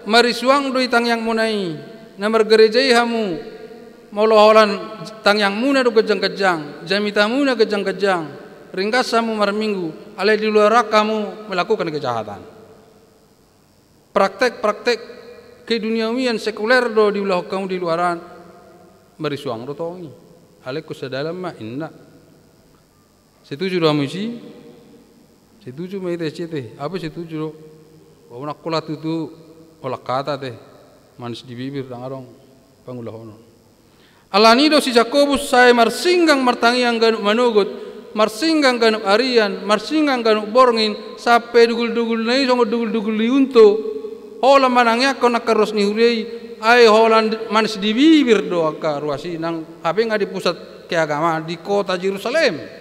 marisuang do i tangiangmuna i, na margereja i hamu, molo holan tangiangmuna do ganjang-ganjang, jamitamuna ganjang-ganjang, ringgas hamu marminggu, alai di luaran hamu melakukan kejahatan. Praktek-praktek keduniawian, sekuler do diulahon hamu di luaran, marisuang do tong i. Alai ingkon sadalan ma, inna. Setuju do hamu disi? Setuju ma hita disi ate. Aha pe setuju do? Unang holan tutu holan hata ate. Manis di bibir, ndang adong pangulahonon. Alani do si Jakobus sai marsinggang martangiang ganup manogot, marsinggang ganup arian, marsinggang ganup borngin, sampe dugul-dugulna i songon dugul-dugul ni unto. Holan manangiangkon angka ruas ni huria i, ai holan manis di bibir do angka ruas i, nang hape nga di pusat keagamaan di kota Jerusalem.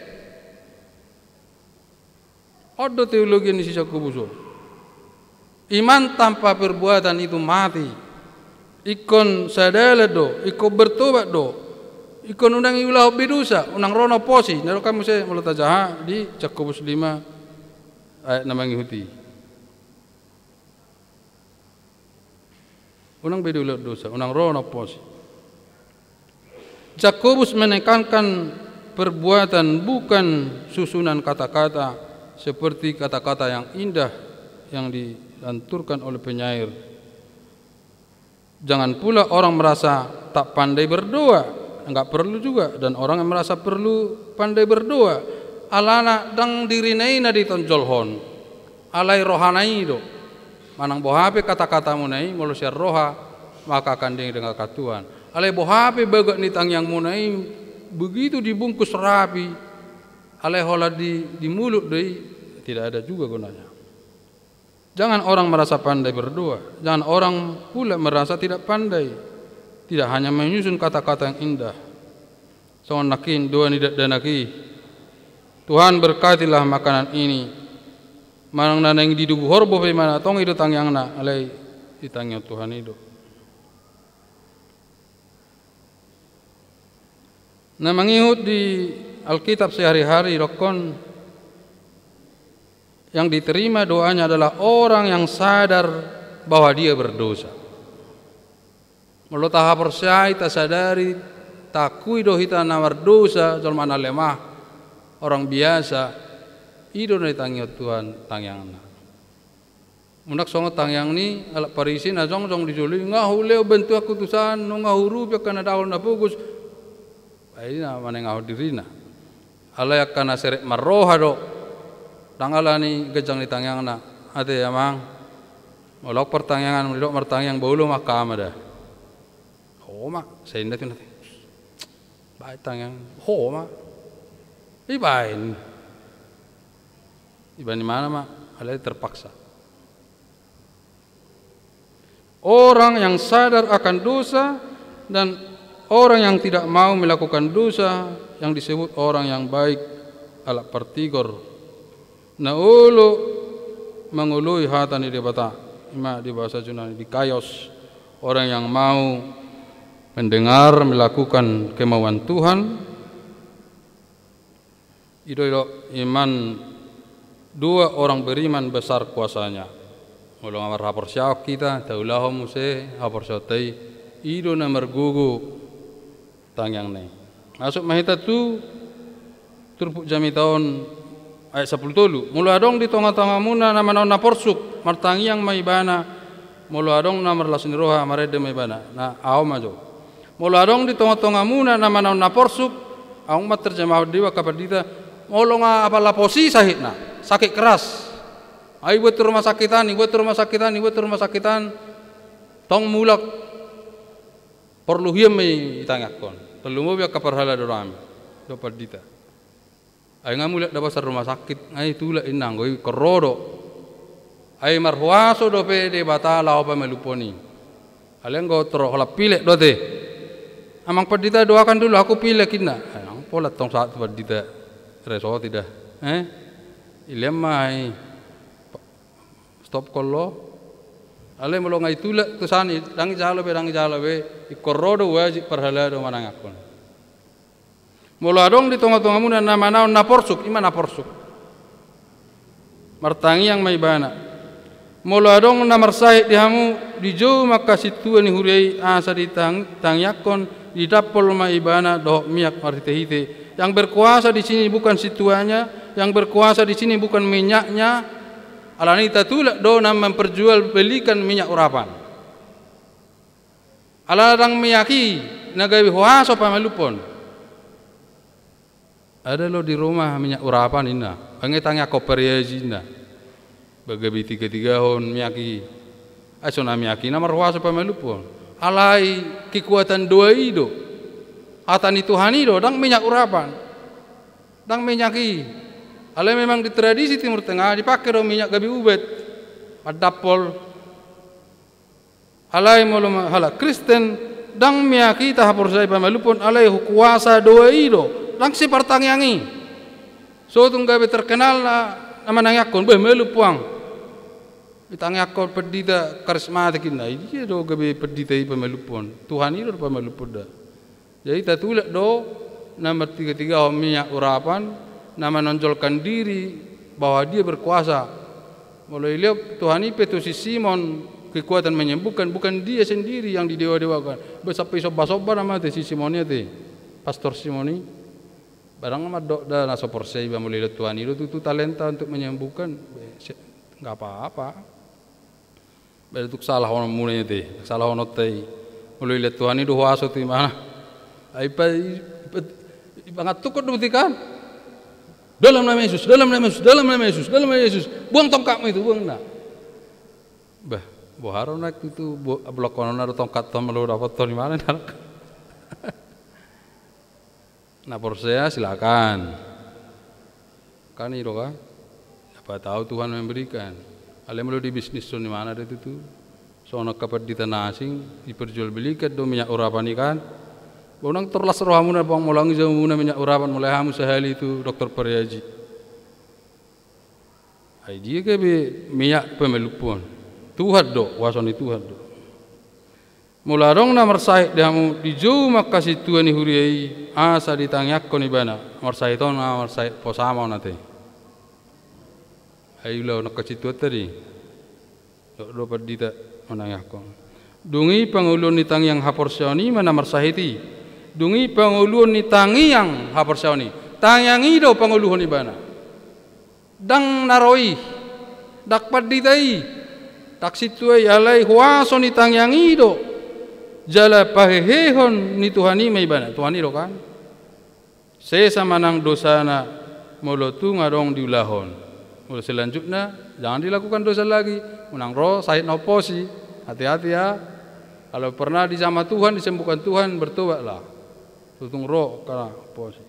On do teologi ni si Jakobus on. Iman tanpa perbuatan itu mati. Ingkon sadalan do, ingkon bertobat do. Ingkon unang diulahon be dosa, unang ro na posi. Nidok hamu muse molo tajaha di Jakobus lima ayat na mangihut i. Unang be diulahon dosa, unang ro na posi. Jakobus menekankan perbuatan, bukan susunan kata-kata seperti kata-kata yang indah yang dilanturkan oleh penyair. Jangan pula orang merasa tak pandai berdoa, nggak perlu juga, dan orang yang merasa perlu pandai berdoa. Alana ndang dirina i na ditonjolhon, alai rohana i do. Manang boha pe kata-katamuna i, molo sian roha, maka akan didengarkan Tuhan. Alai boha pe bagot ni tangiangmuna i, begitu dibungkus rapi, alai holan di, di mulut do i, tidak ada juga gunanya. Jangan orang merasa pandai berdoa, jangan orang pula merasa tidak pandai. Tidak hanya menyusun kata-kata yang indah. Songon nangkin dua ni dakdanak i, Tuhan, berkatilah makanan ini. Manang na naeng didubu horbo pe imana, tong i do tangiangna, alai ditangihon Tuhan i do. Na mangihut di Alkitab sehari-hari, dokkon, yang diterima doanya adalah orang yang sadar bahwa dia berdosa. Molo tahaporseai, tasadari, taakui do hita na mardosa, jolma na lemah, orang biasa, i do na ditangihon Tuhan tangiangna. Unang songon tangiang ni halak Parisi na jongjong di jolo i, nga hulehon bantuanku tu si an, nunga huurupi angka na dangol na pogos. Ai na manengahon dirina. Alai angka na serep marroha do. Ndang alani ganjang ni tangiangna. Ate amang. Molo ahu partangiangan, molo didok martangiang, bolo ma angka ama da. Ho ma, sai inda tu na. Baen tangiang. Ho ma. Ibaen. Ibaen imana ma, alai terpaksa. Orang yang sadar akan dosa dan orang yang tidak mau melakukan dosa yang disebut orang yang baik, halak partigor. Na olo mangoloi hata ni Debata, ima di bahasa Junani, dikaios, orang yang mau mendengar, melakukan kemauan Tuhan. I do, i do, iman, dua orang beriman besar kuasanya. Molo nga marhaporseaon hita, taulahon muse haporseaonta i, i do na margogo tangiangna i. Masuk ma hita tu turpuk jamita on, ayat sampulu tolu. Molo adong di tonga-tongamuna na manaon na porsuk, martangiang ma ibana, molo adong na marlas ni roha, marende ma ibana. Na ahu ma jo. Molo adong di tonga-tongamuna na manaon na porsuk, ahu ma terjemahon di angka pandita, molo nga apala posi sahitna, sakit keras. Ai buat tu rumah sakit an, buat tu rumah sakit an, buat tu rumah sakit an, tong mulak, porlu hian ma i tangiangkon. Tarlumobi angka parhalado nami dohot pandita. Ai nga mulak do basa rumah sakit, ai tulak inna, anggo i ingkon ro do. Ai marhuaso dope Debata laho pamalumhon i. Alai anggo torop holan pilek do ate. Amang pandita, doakan dulu aku pilek inna. Ai nang Pola tong sahat tu pandita resoti da. Eh? Ilean ma i. Stop kolo. Alai molo nga itulak tu sani, dang ijalo be, dang ijalo be, ingkon ro do wajib parhalado manangiangkon. Molo adong di tonga-tongamuna na manaon na porsuk, ima na porsuk. Martangiang ma ibana. Molo adong na marsahit di hamu, dijou ma angka sintua ni huria i asa ditang-, tangiangkon, didampol ma ibana dohot miak marhite-hite. Yang berkuasa di sini bukan sintuanya, yang berkuasa di sini bukan minyaknya, alani tatulak do na memperjualbelikan minyak urapan. Ala dang miak i na gabe huaso pamalumhon. Ada lo di rumah minyak urapan inna, bangke tangiangkon pariaji inna. Ba gabe tiga-tigahon miak i. Ai so na miak i na marhuaso pamalumhon. Alai kekuatan doa i do. Hata ni Tuhan i do, dang minyak urapan. Dang minyak i. Alai memang di tradisi Timur Tengah dipake do minyak gabe ubat. Mandampol. Alai molo ma-, halak Kristen, dang miak i tahaporsayai pamalumhon, alai kuasa doa i do, dang sipartangiang i. So tung gabe terkenal na, na manangiangkon, beh, malum puang. Ditangiangkon pendita karismatik inna, i dia do gabe pendita i pamalumhon. Tuhan i do pamalumhon da. Jadi tatulak do na martiga-tigahon minyak urapan, na menonjolkan diri bahwa dia berkuasa. Molo dilehon Tuhan i pe tu si Simon kekuatan menyembuhkan, bukan dia sendiri yang didewa-dewakan. Ba sampe disomba-somba nama te si Simon i ate. Pastor Simon i. Barang mandok da na so porsea iba molo dilehon Tuhan i do tutu talenta untuk menyembuhkan. Be, se-, nggak apa-apa. Ba tung salahononmuna i ate, salahononta i. Molo dilehon Tuhan i do huaso tu imana. Ai pa, i, pa, ipangantukkon do buti kan. Dalam nama Yesus, dalam nama Yesus, dalam nama Yesus, dalam nama Yesus. Buang tongkatmu itu, buang na. Bah, boha ro naeng tutu, bo-, bolongkononna do tongkat on molo dapothon imana na. Na porsea, silakan. Kan i do kan? Siapa tahu Tuhan memberikan. Alai molo dibisnishon imana do tutu. Songon angka pandita na asing, diperjualbelikan do minyak urapan i kan. Ba unang tor las rohamuna, bang, molo nunga ijaumuna minyak urapan, molo hamu sahali tu dokter Pariaji. Ai dia gabe minyak pamalumhon. Tuhan do, huaso ni Tuhan do. Molo adong na marsahit di hamu, dijou ma angka sintua ni huria i, asa ditangiangkon ibana. Marsahit on, na marsahit posa ma on ate. Ai ulaon angka sintua tadi. Dok do pandita manangiangkon. Dung i pangoluon ni tangiang haporseaon i ma na marsahit i. Dung i pangoluon ni tangiang haporseaon i. Tangiang i do pangoluhon ibana. Ndang na ro i, ndang pandita i, ndang sintua i, alai huaso ni tangiang i do. Jala pahehehon ni Tuhan i ma ibana, Tuhan i do kan. Sesa ma nang dosana molo tung adong diulahon. Molo selanjutnya, jangan dilakukan dosa lagi. Unang ro sahit na homposi, hati-hati ya. Kalau pernah dijamah Tuhan, disembuhkan Tuhan, bertobatlah. Tutu ro angka na homposi.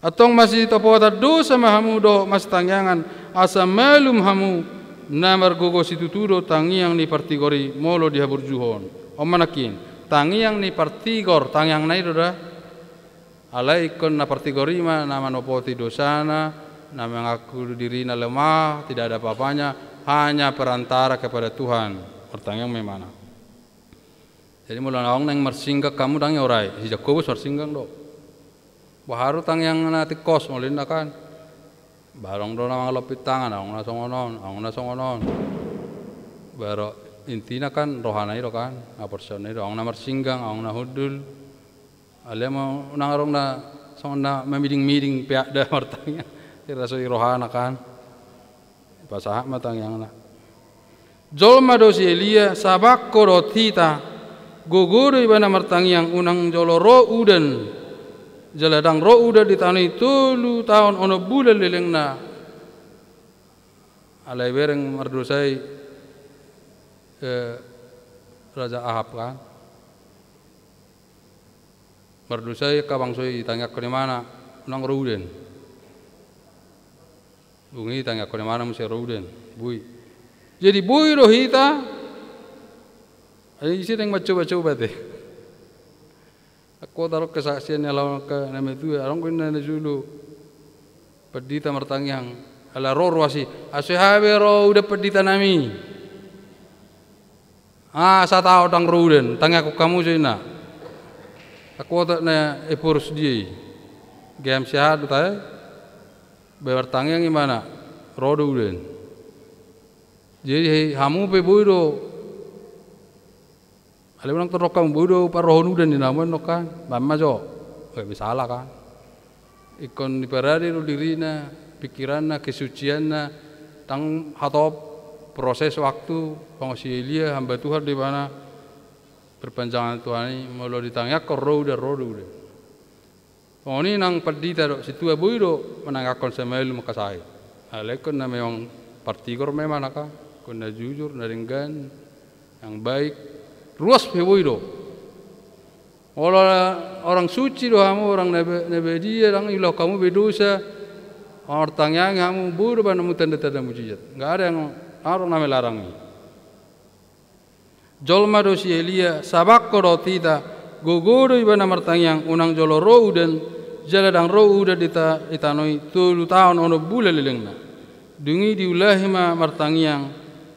Antong masitopotan dosa ma hamu dohot masitangiangan, asa malum hamu. Na margogo situtu do tangiang ni partigor i molo dihaburjuhon. On ma nangkin, tangiang ni partigor, tangiangna i do da. Alai ingkon na partigor i ma na manopoti dosana, na mengaku dirina lemah, tidak ada apa-apanya, hanya perantara kepada Tuhan. Martangiang ma ibana. Jadi molo naung naeng marsinggang hamu, ndang i orai, si Jakobus marsinggang do. Boha ro tangiang na tingkos molo inna kan. Ba adong do na mangalompit tangan, adong na songon on, adong na songon on. Baru intina kan rohana i do kan, haporseaonna i do, adong na marsinggang, adong na hundul. Alai ma unang adong na songon na mamiding-miding peak da martangiang. Ira so i rohana kan. Pasahat ma tangiangna. Jolma do si Elia, sabangko dohot hita, gogo do ibana martangiang unang jolo ro udan. Jala ndang ro udan di tano i tolu taon onom bulan lelengna. Alai bereng mardosa i, eh, Raja Ahab kan. Mardosa i angka bangso i, tangiangkon ibana unang ro udan. Dung i tangiangkon ibana muse ro udan, boi. Jadi boi do hita. Ai ise naeng mancoba-coba te. Angkuat adong kesaksian ni halak angka na matua, adong do inna na jolo pandita martangiang, ala ro ruas i, "Asa hea be ro udan pandita nami. Ah, sataon ndang ro udan, tangiangkon hamu," ninna. Angkuat na Ephorus dia i. Gabe sehat do tahe, baen martangiang ibana, ro do udan. Jadi hamu pe boi do. Alai unang torop hamu, boi do parrohahon udan ninna hamu annon kan. Baen ma jo. Gabe sala kan. Ingkon diparade do dirina, pikiranna, kesucianna, ndang hatop proses waktu, songon si Elia, hamba Tuhan do ibana, perpanjangan Tuhan i, molo ditangiangkon ro udan, ro do udan. Songon i nang pandita dohot sintua, boi do manangiangkon simalum angka sahit. Alai ingkon na memang partigor ma ibana kan, ingkon na jujur, na denggan, yang baik, ruas pe boi do. Molo orang suci do hamu, orang na ba-, na badia, ndang diulahon hamu be dosa, martangiang hamu, boi do baen hamu tanda-tanda mujizat. Nggak ada yang, adong na melarang i. Jolma do si Elia, sabangko dohot hita, gogo do ibana martangiang, unang jolo ro udan, jala ndang ro udan di ta-, di tano i, tolu taon onom bulan lelengna. Dung i diulahi ma martangiang,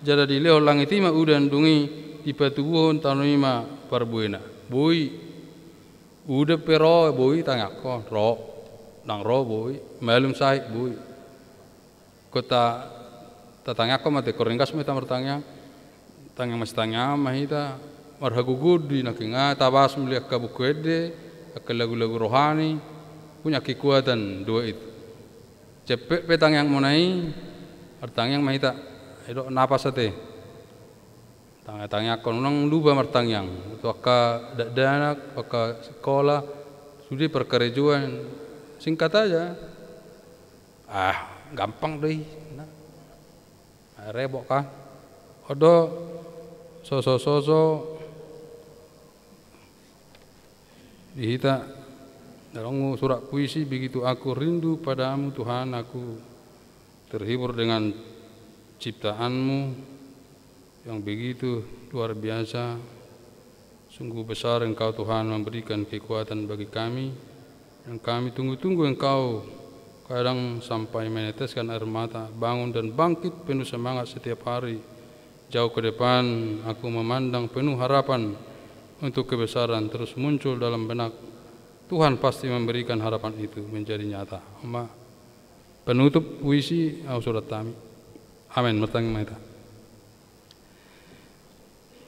jala dilehon langit i ma udan, dung i dipatubuhon tano i ma parbuena. Boi. Udan pe ro, boi tangiangkon, ro. Ndang ro, boi. Malum sahit, boi. Ingkon ta-, tatangiangkon ma, ingkon ringgas ma hita martangiang. Tangiang masitangiangan ma hita, marhagogoon do i nangkin, nga tabahas muli angka buku ende, angka lagu-lagu rohani, punya kekuatan doa itu. Cepet pe tangiangmuna i, martangiang ma hita. Ai do napas ate. Tangiang-tangiangkon, unang lupa martangiang. Tu angka dakdanak, angka sikola, sude parkarejoan, singkat aja. Ah, gampang do i. Nah. Ah, rebok kan. On do soso-soso di hita, dalam surat puisi, "Begitu aku rindu padamu Tuhan, aku terhibur dengan ciptaan-Mu yang begitu luar biasa. Sungguh besar Engkau Tuhan memberikan kekuatan bagi kami, yang kami tunggu-tunggu Engkau kadang sampai meneteskan air mata, bangun dan bangkit penuh semangat setiap hari. Jauh ke depan aku memandang penuh harapan untuk kebesaran terus muncul dalam benak. Tuhan pasti memberikan harapan itu menjadi nyata." On ma panutup puisi, au surat hami. Amen. Martangiang ma hita.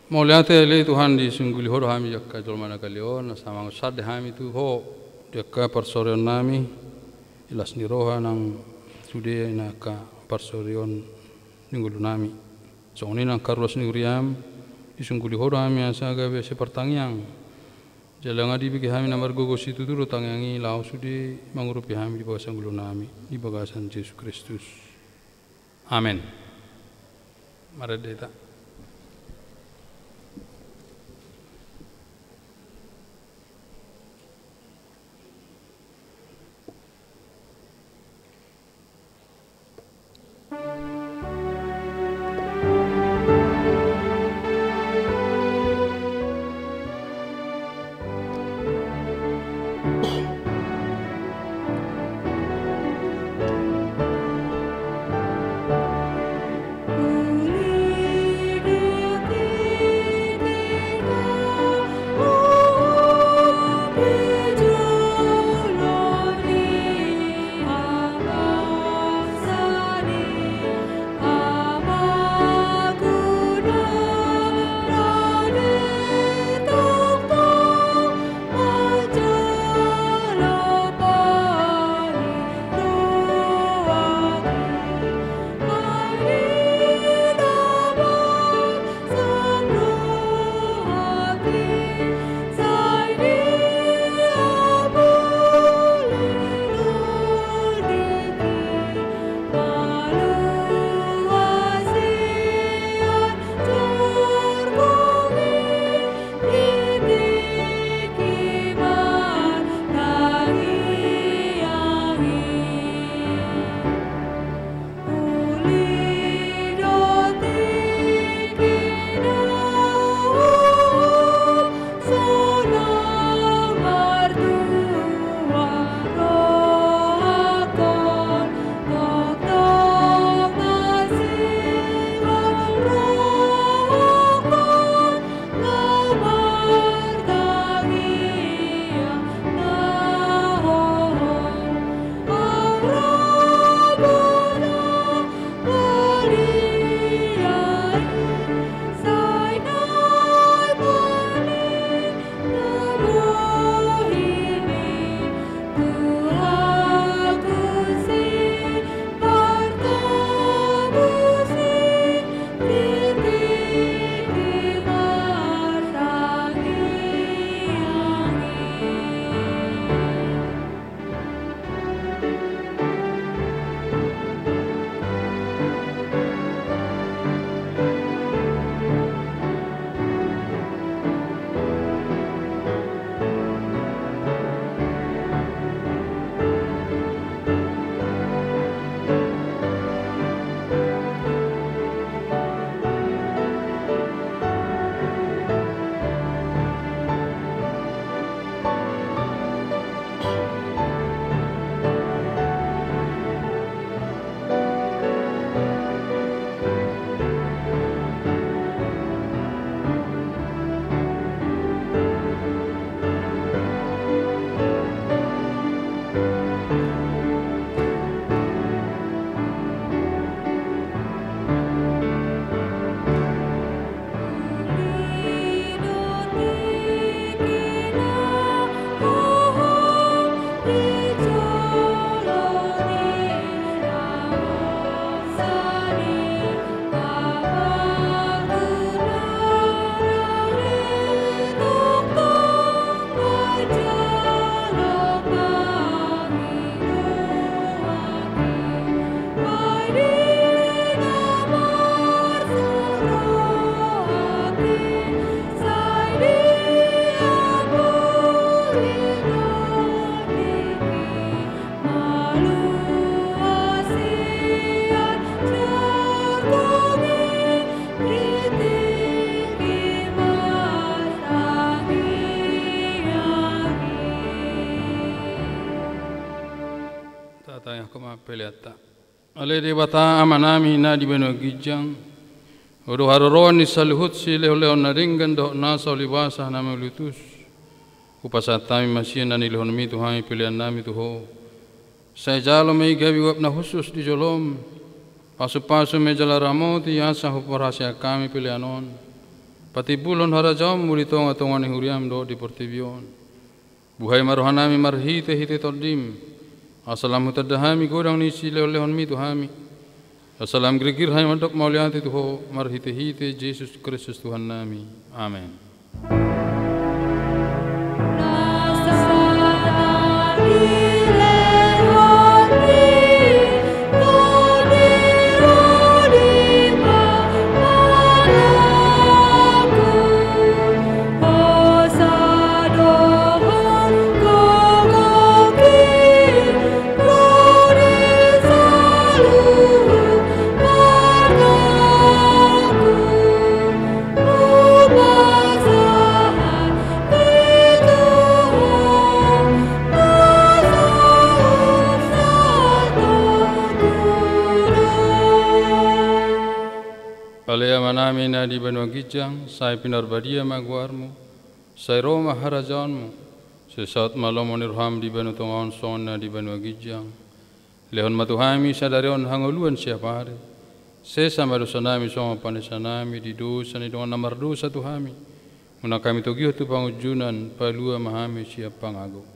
Mauliate ale Tuhan, disungguli Ho do hami angka jolma na gale on, asa mangusande hami tu Ho di angka parsorion nami, di las ni roha nang sude na angka parsorion ni ngolu nami. Songon i nang angka ruas ni huriam, disungguli Ho do hami asa gabe sipartangiang. Jala nga dibege hami na margogo situtu do tangiang i laho sude mangurupi hami di bagasan ngolu nami, di bagasan Jesus Kristus. Amen. Marende hita. Ale Debata Amanami na di banua ginjang, Ho do haroroan ni saluhut silehonlehon na denggan dohot nasa ulibasa na mauliutus. Hupasahat hami ma sian na nilehonmi tu hami peleannami tu Ho. Sai jalo ma i gabe uap na hushus di jolom. Pasupasu ma i jala ramoti asa huparhaseang hami pelean on. Patimbulhon harajaonmu di tongatonga ni huriam dohot di portibi on. Buhai ma rohanami marhitehite Tondim, asa lam hutanda hami godang ni silehonlehonmi tu hami. Asa lam girgir hami mandok mauliate tu Ho marhitehite Jesus Kristus Tuhannami. Amen. Ale Amanami na di banua ginjang, sai pinarbadia ma goarmu, sai ro ma harajaonmu, sai saut ma lomo ni roham di banua tonga on songon na di banua ginjang. Lehon ma tu hami sadari on hangoluan siapari. Sesa ma dosanami songon panesanami di dosa ni dongan na mardosa tu hami. Unang hami togihon tu pangunjunan, palua ma hami sian pangago.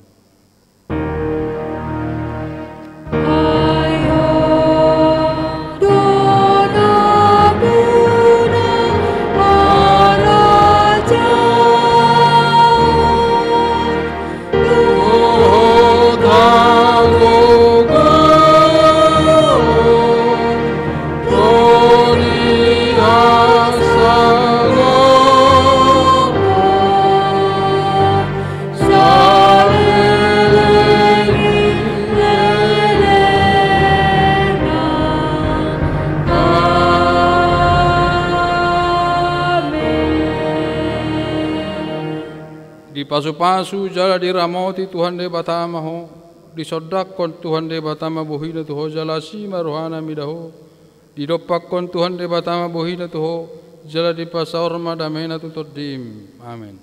Dipasupasu jala diramoti Tuhan Debata ma ho, disondangkon Tuhan Debata ma bohina tu ho jala asi ma rohana mida ho. Didompakkon Tuhan Debata ma bohina tu ho, jala dipasaor ma damena tu tondim. Amen.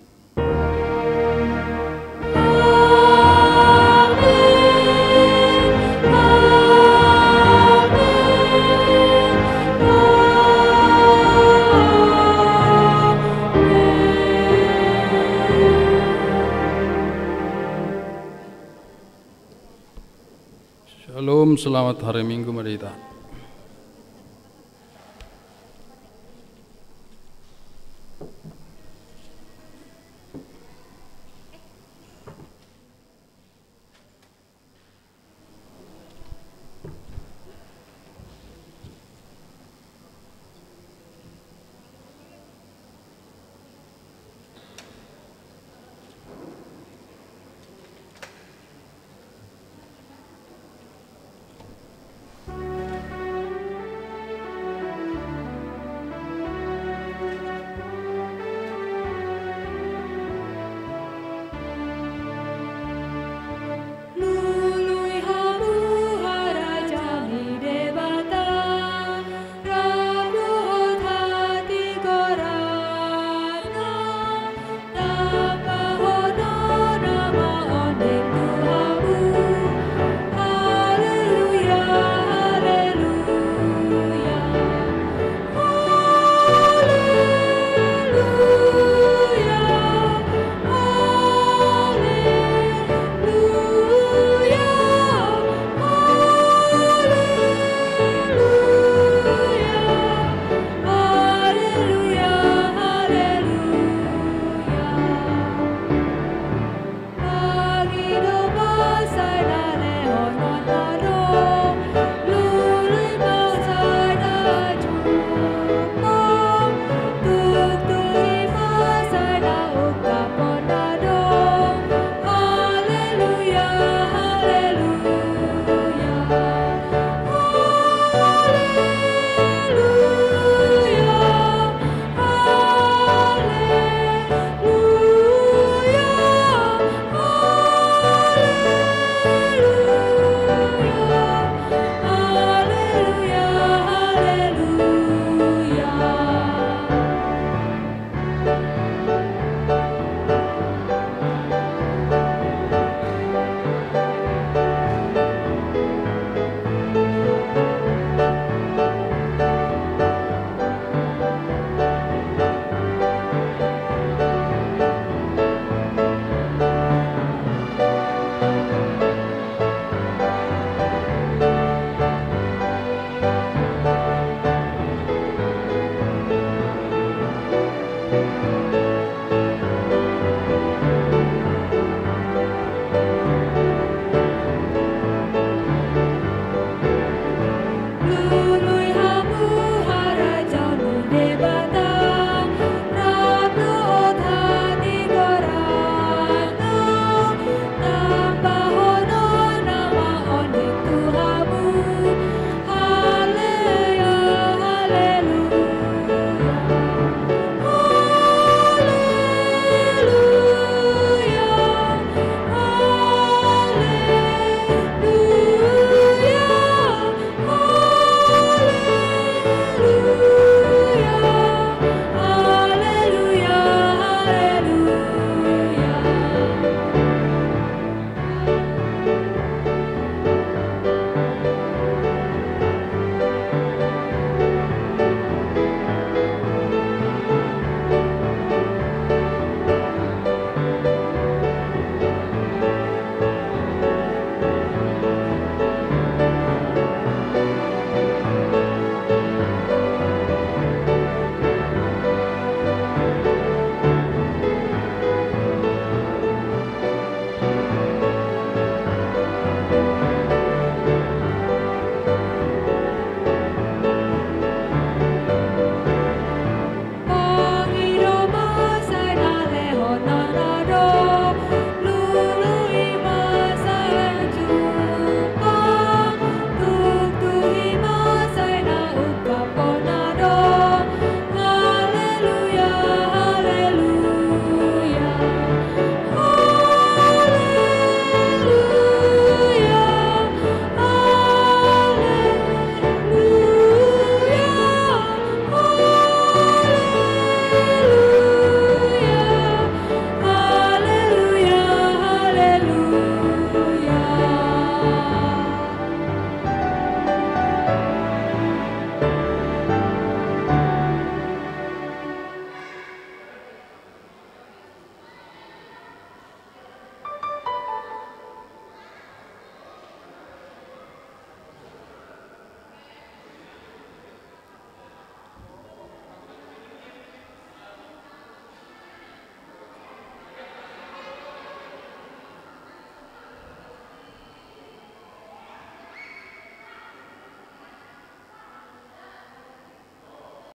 Shalom, selamat hari Minggu ma di hita.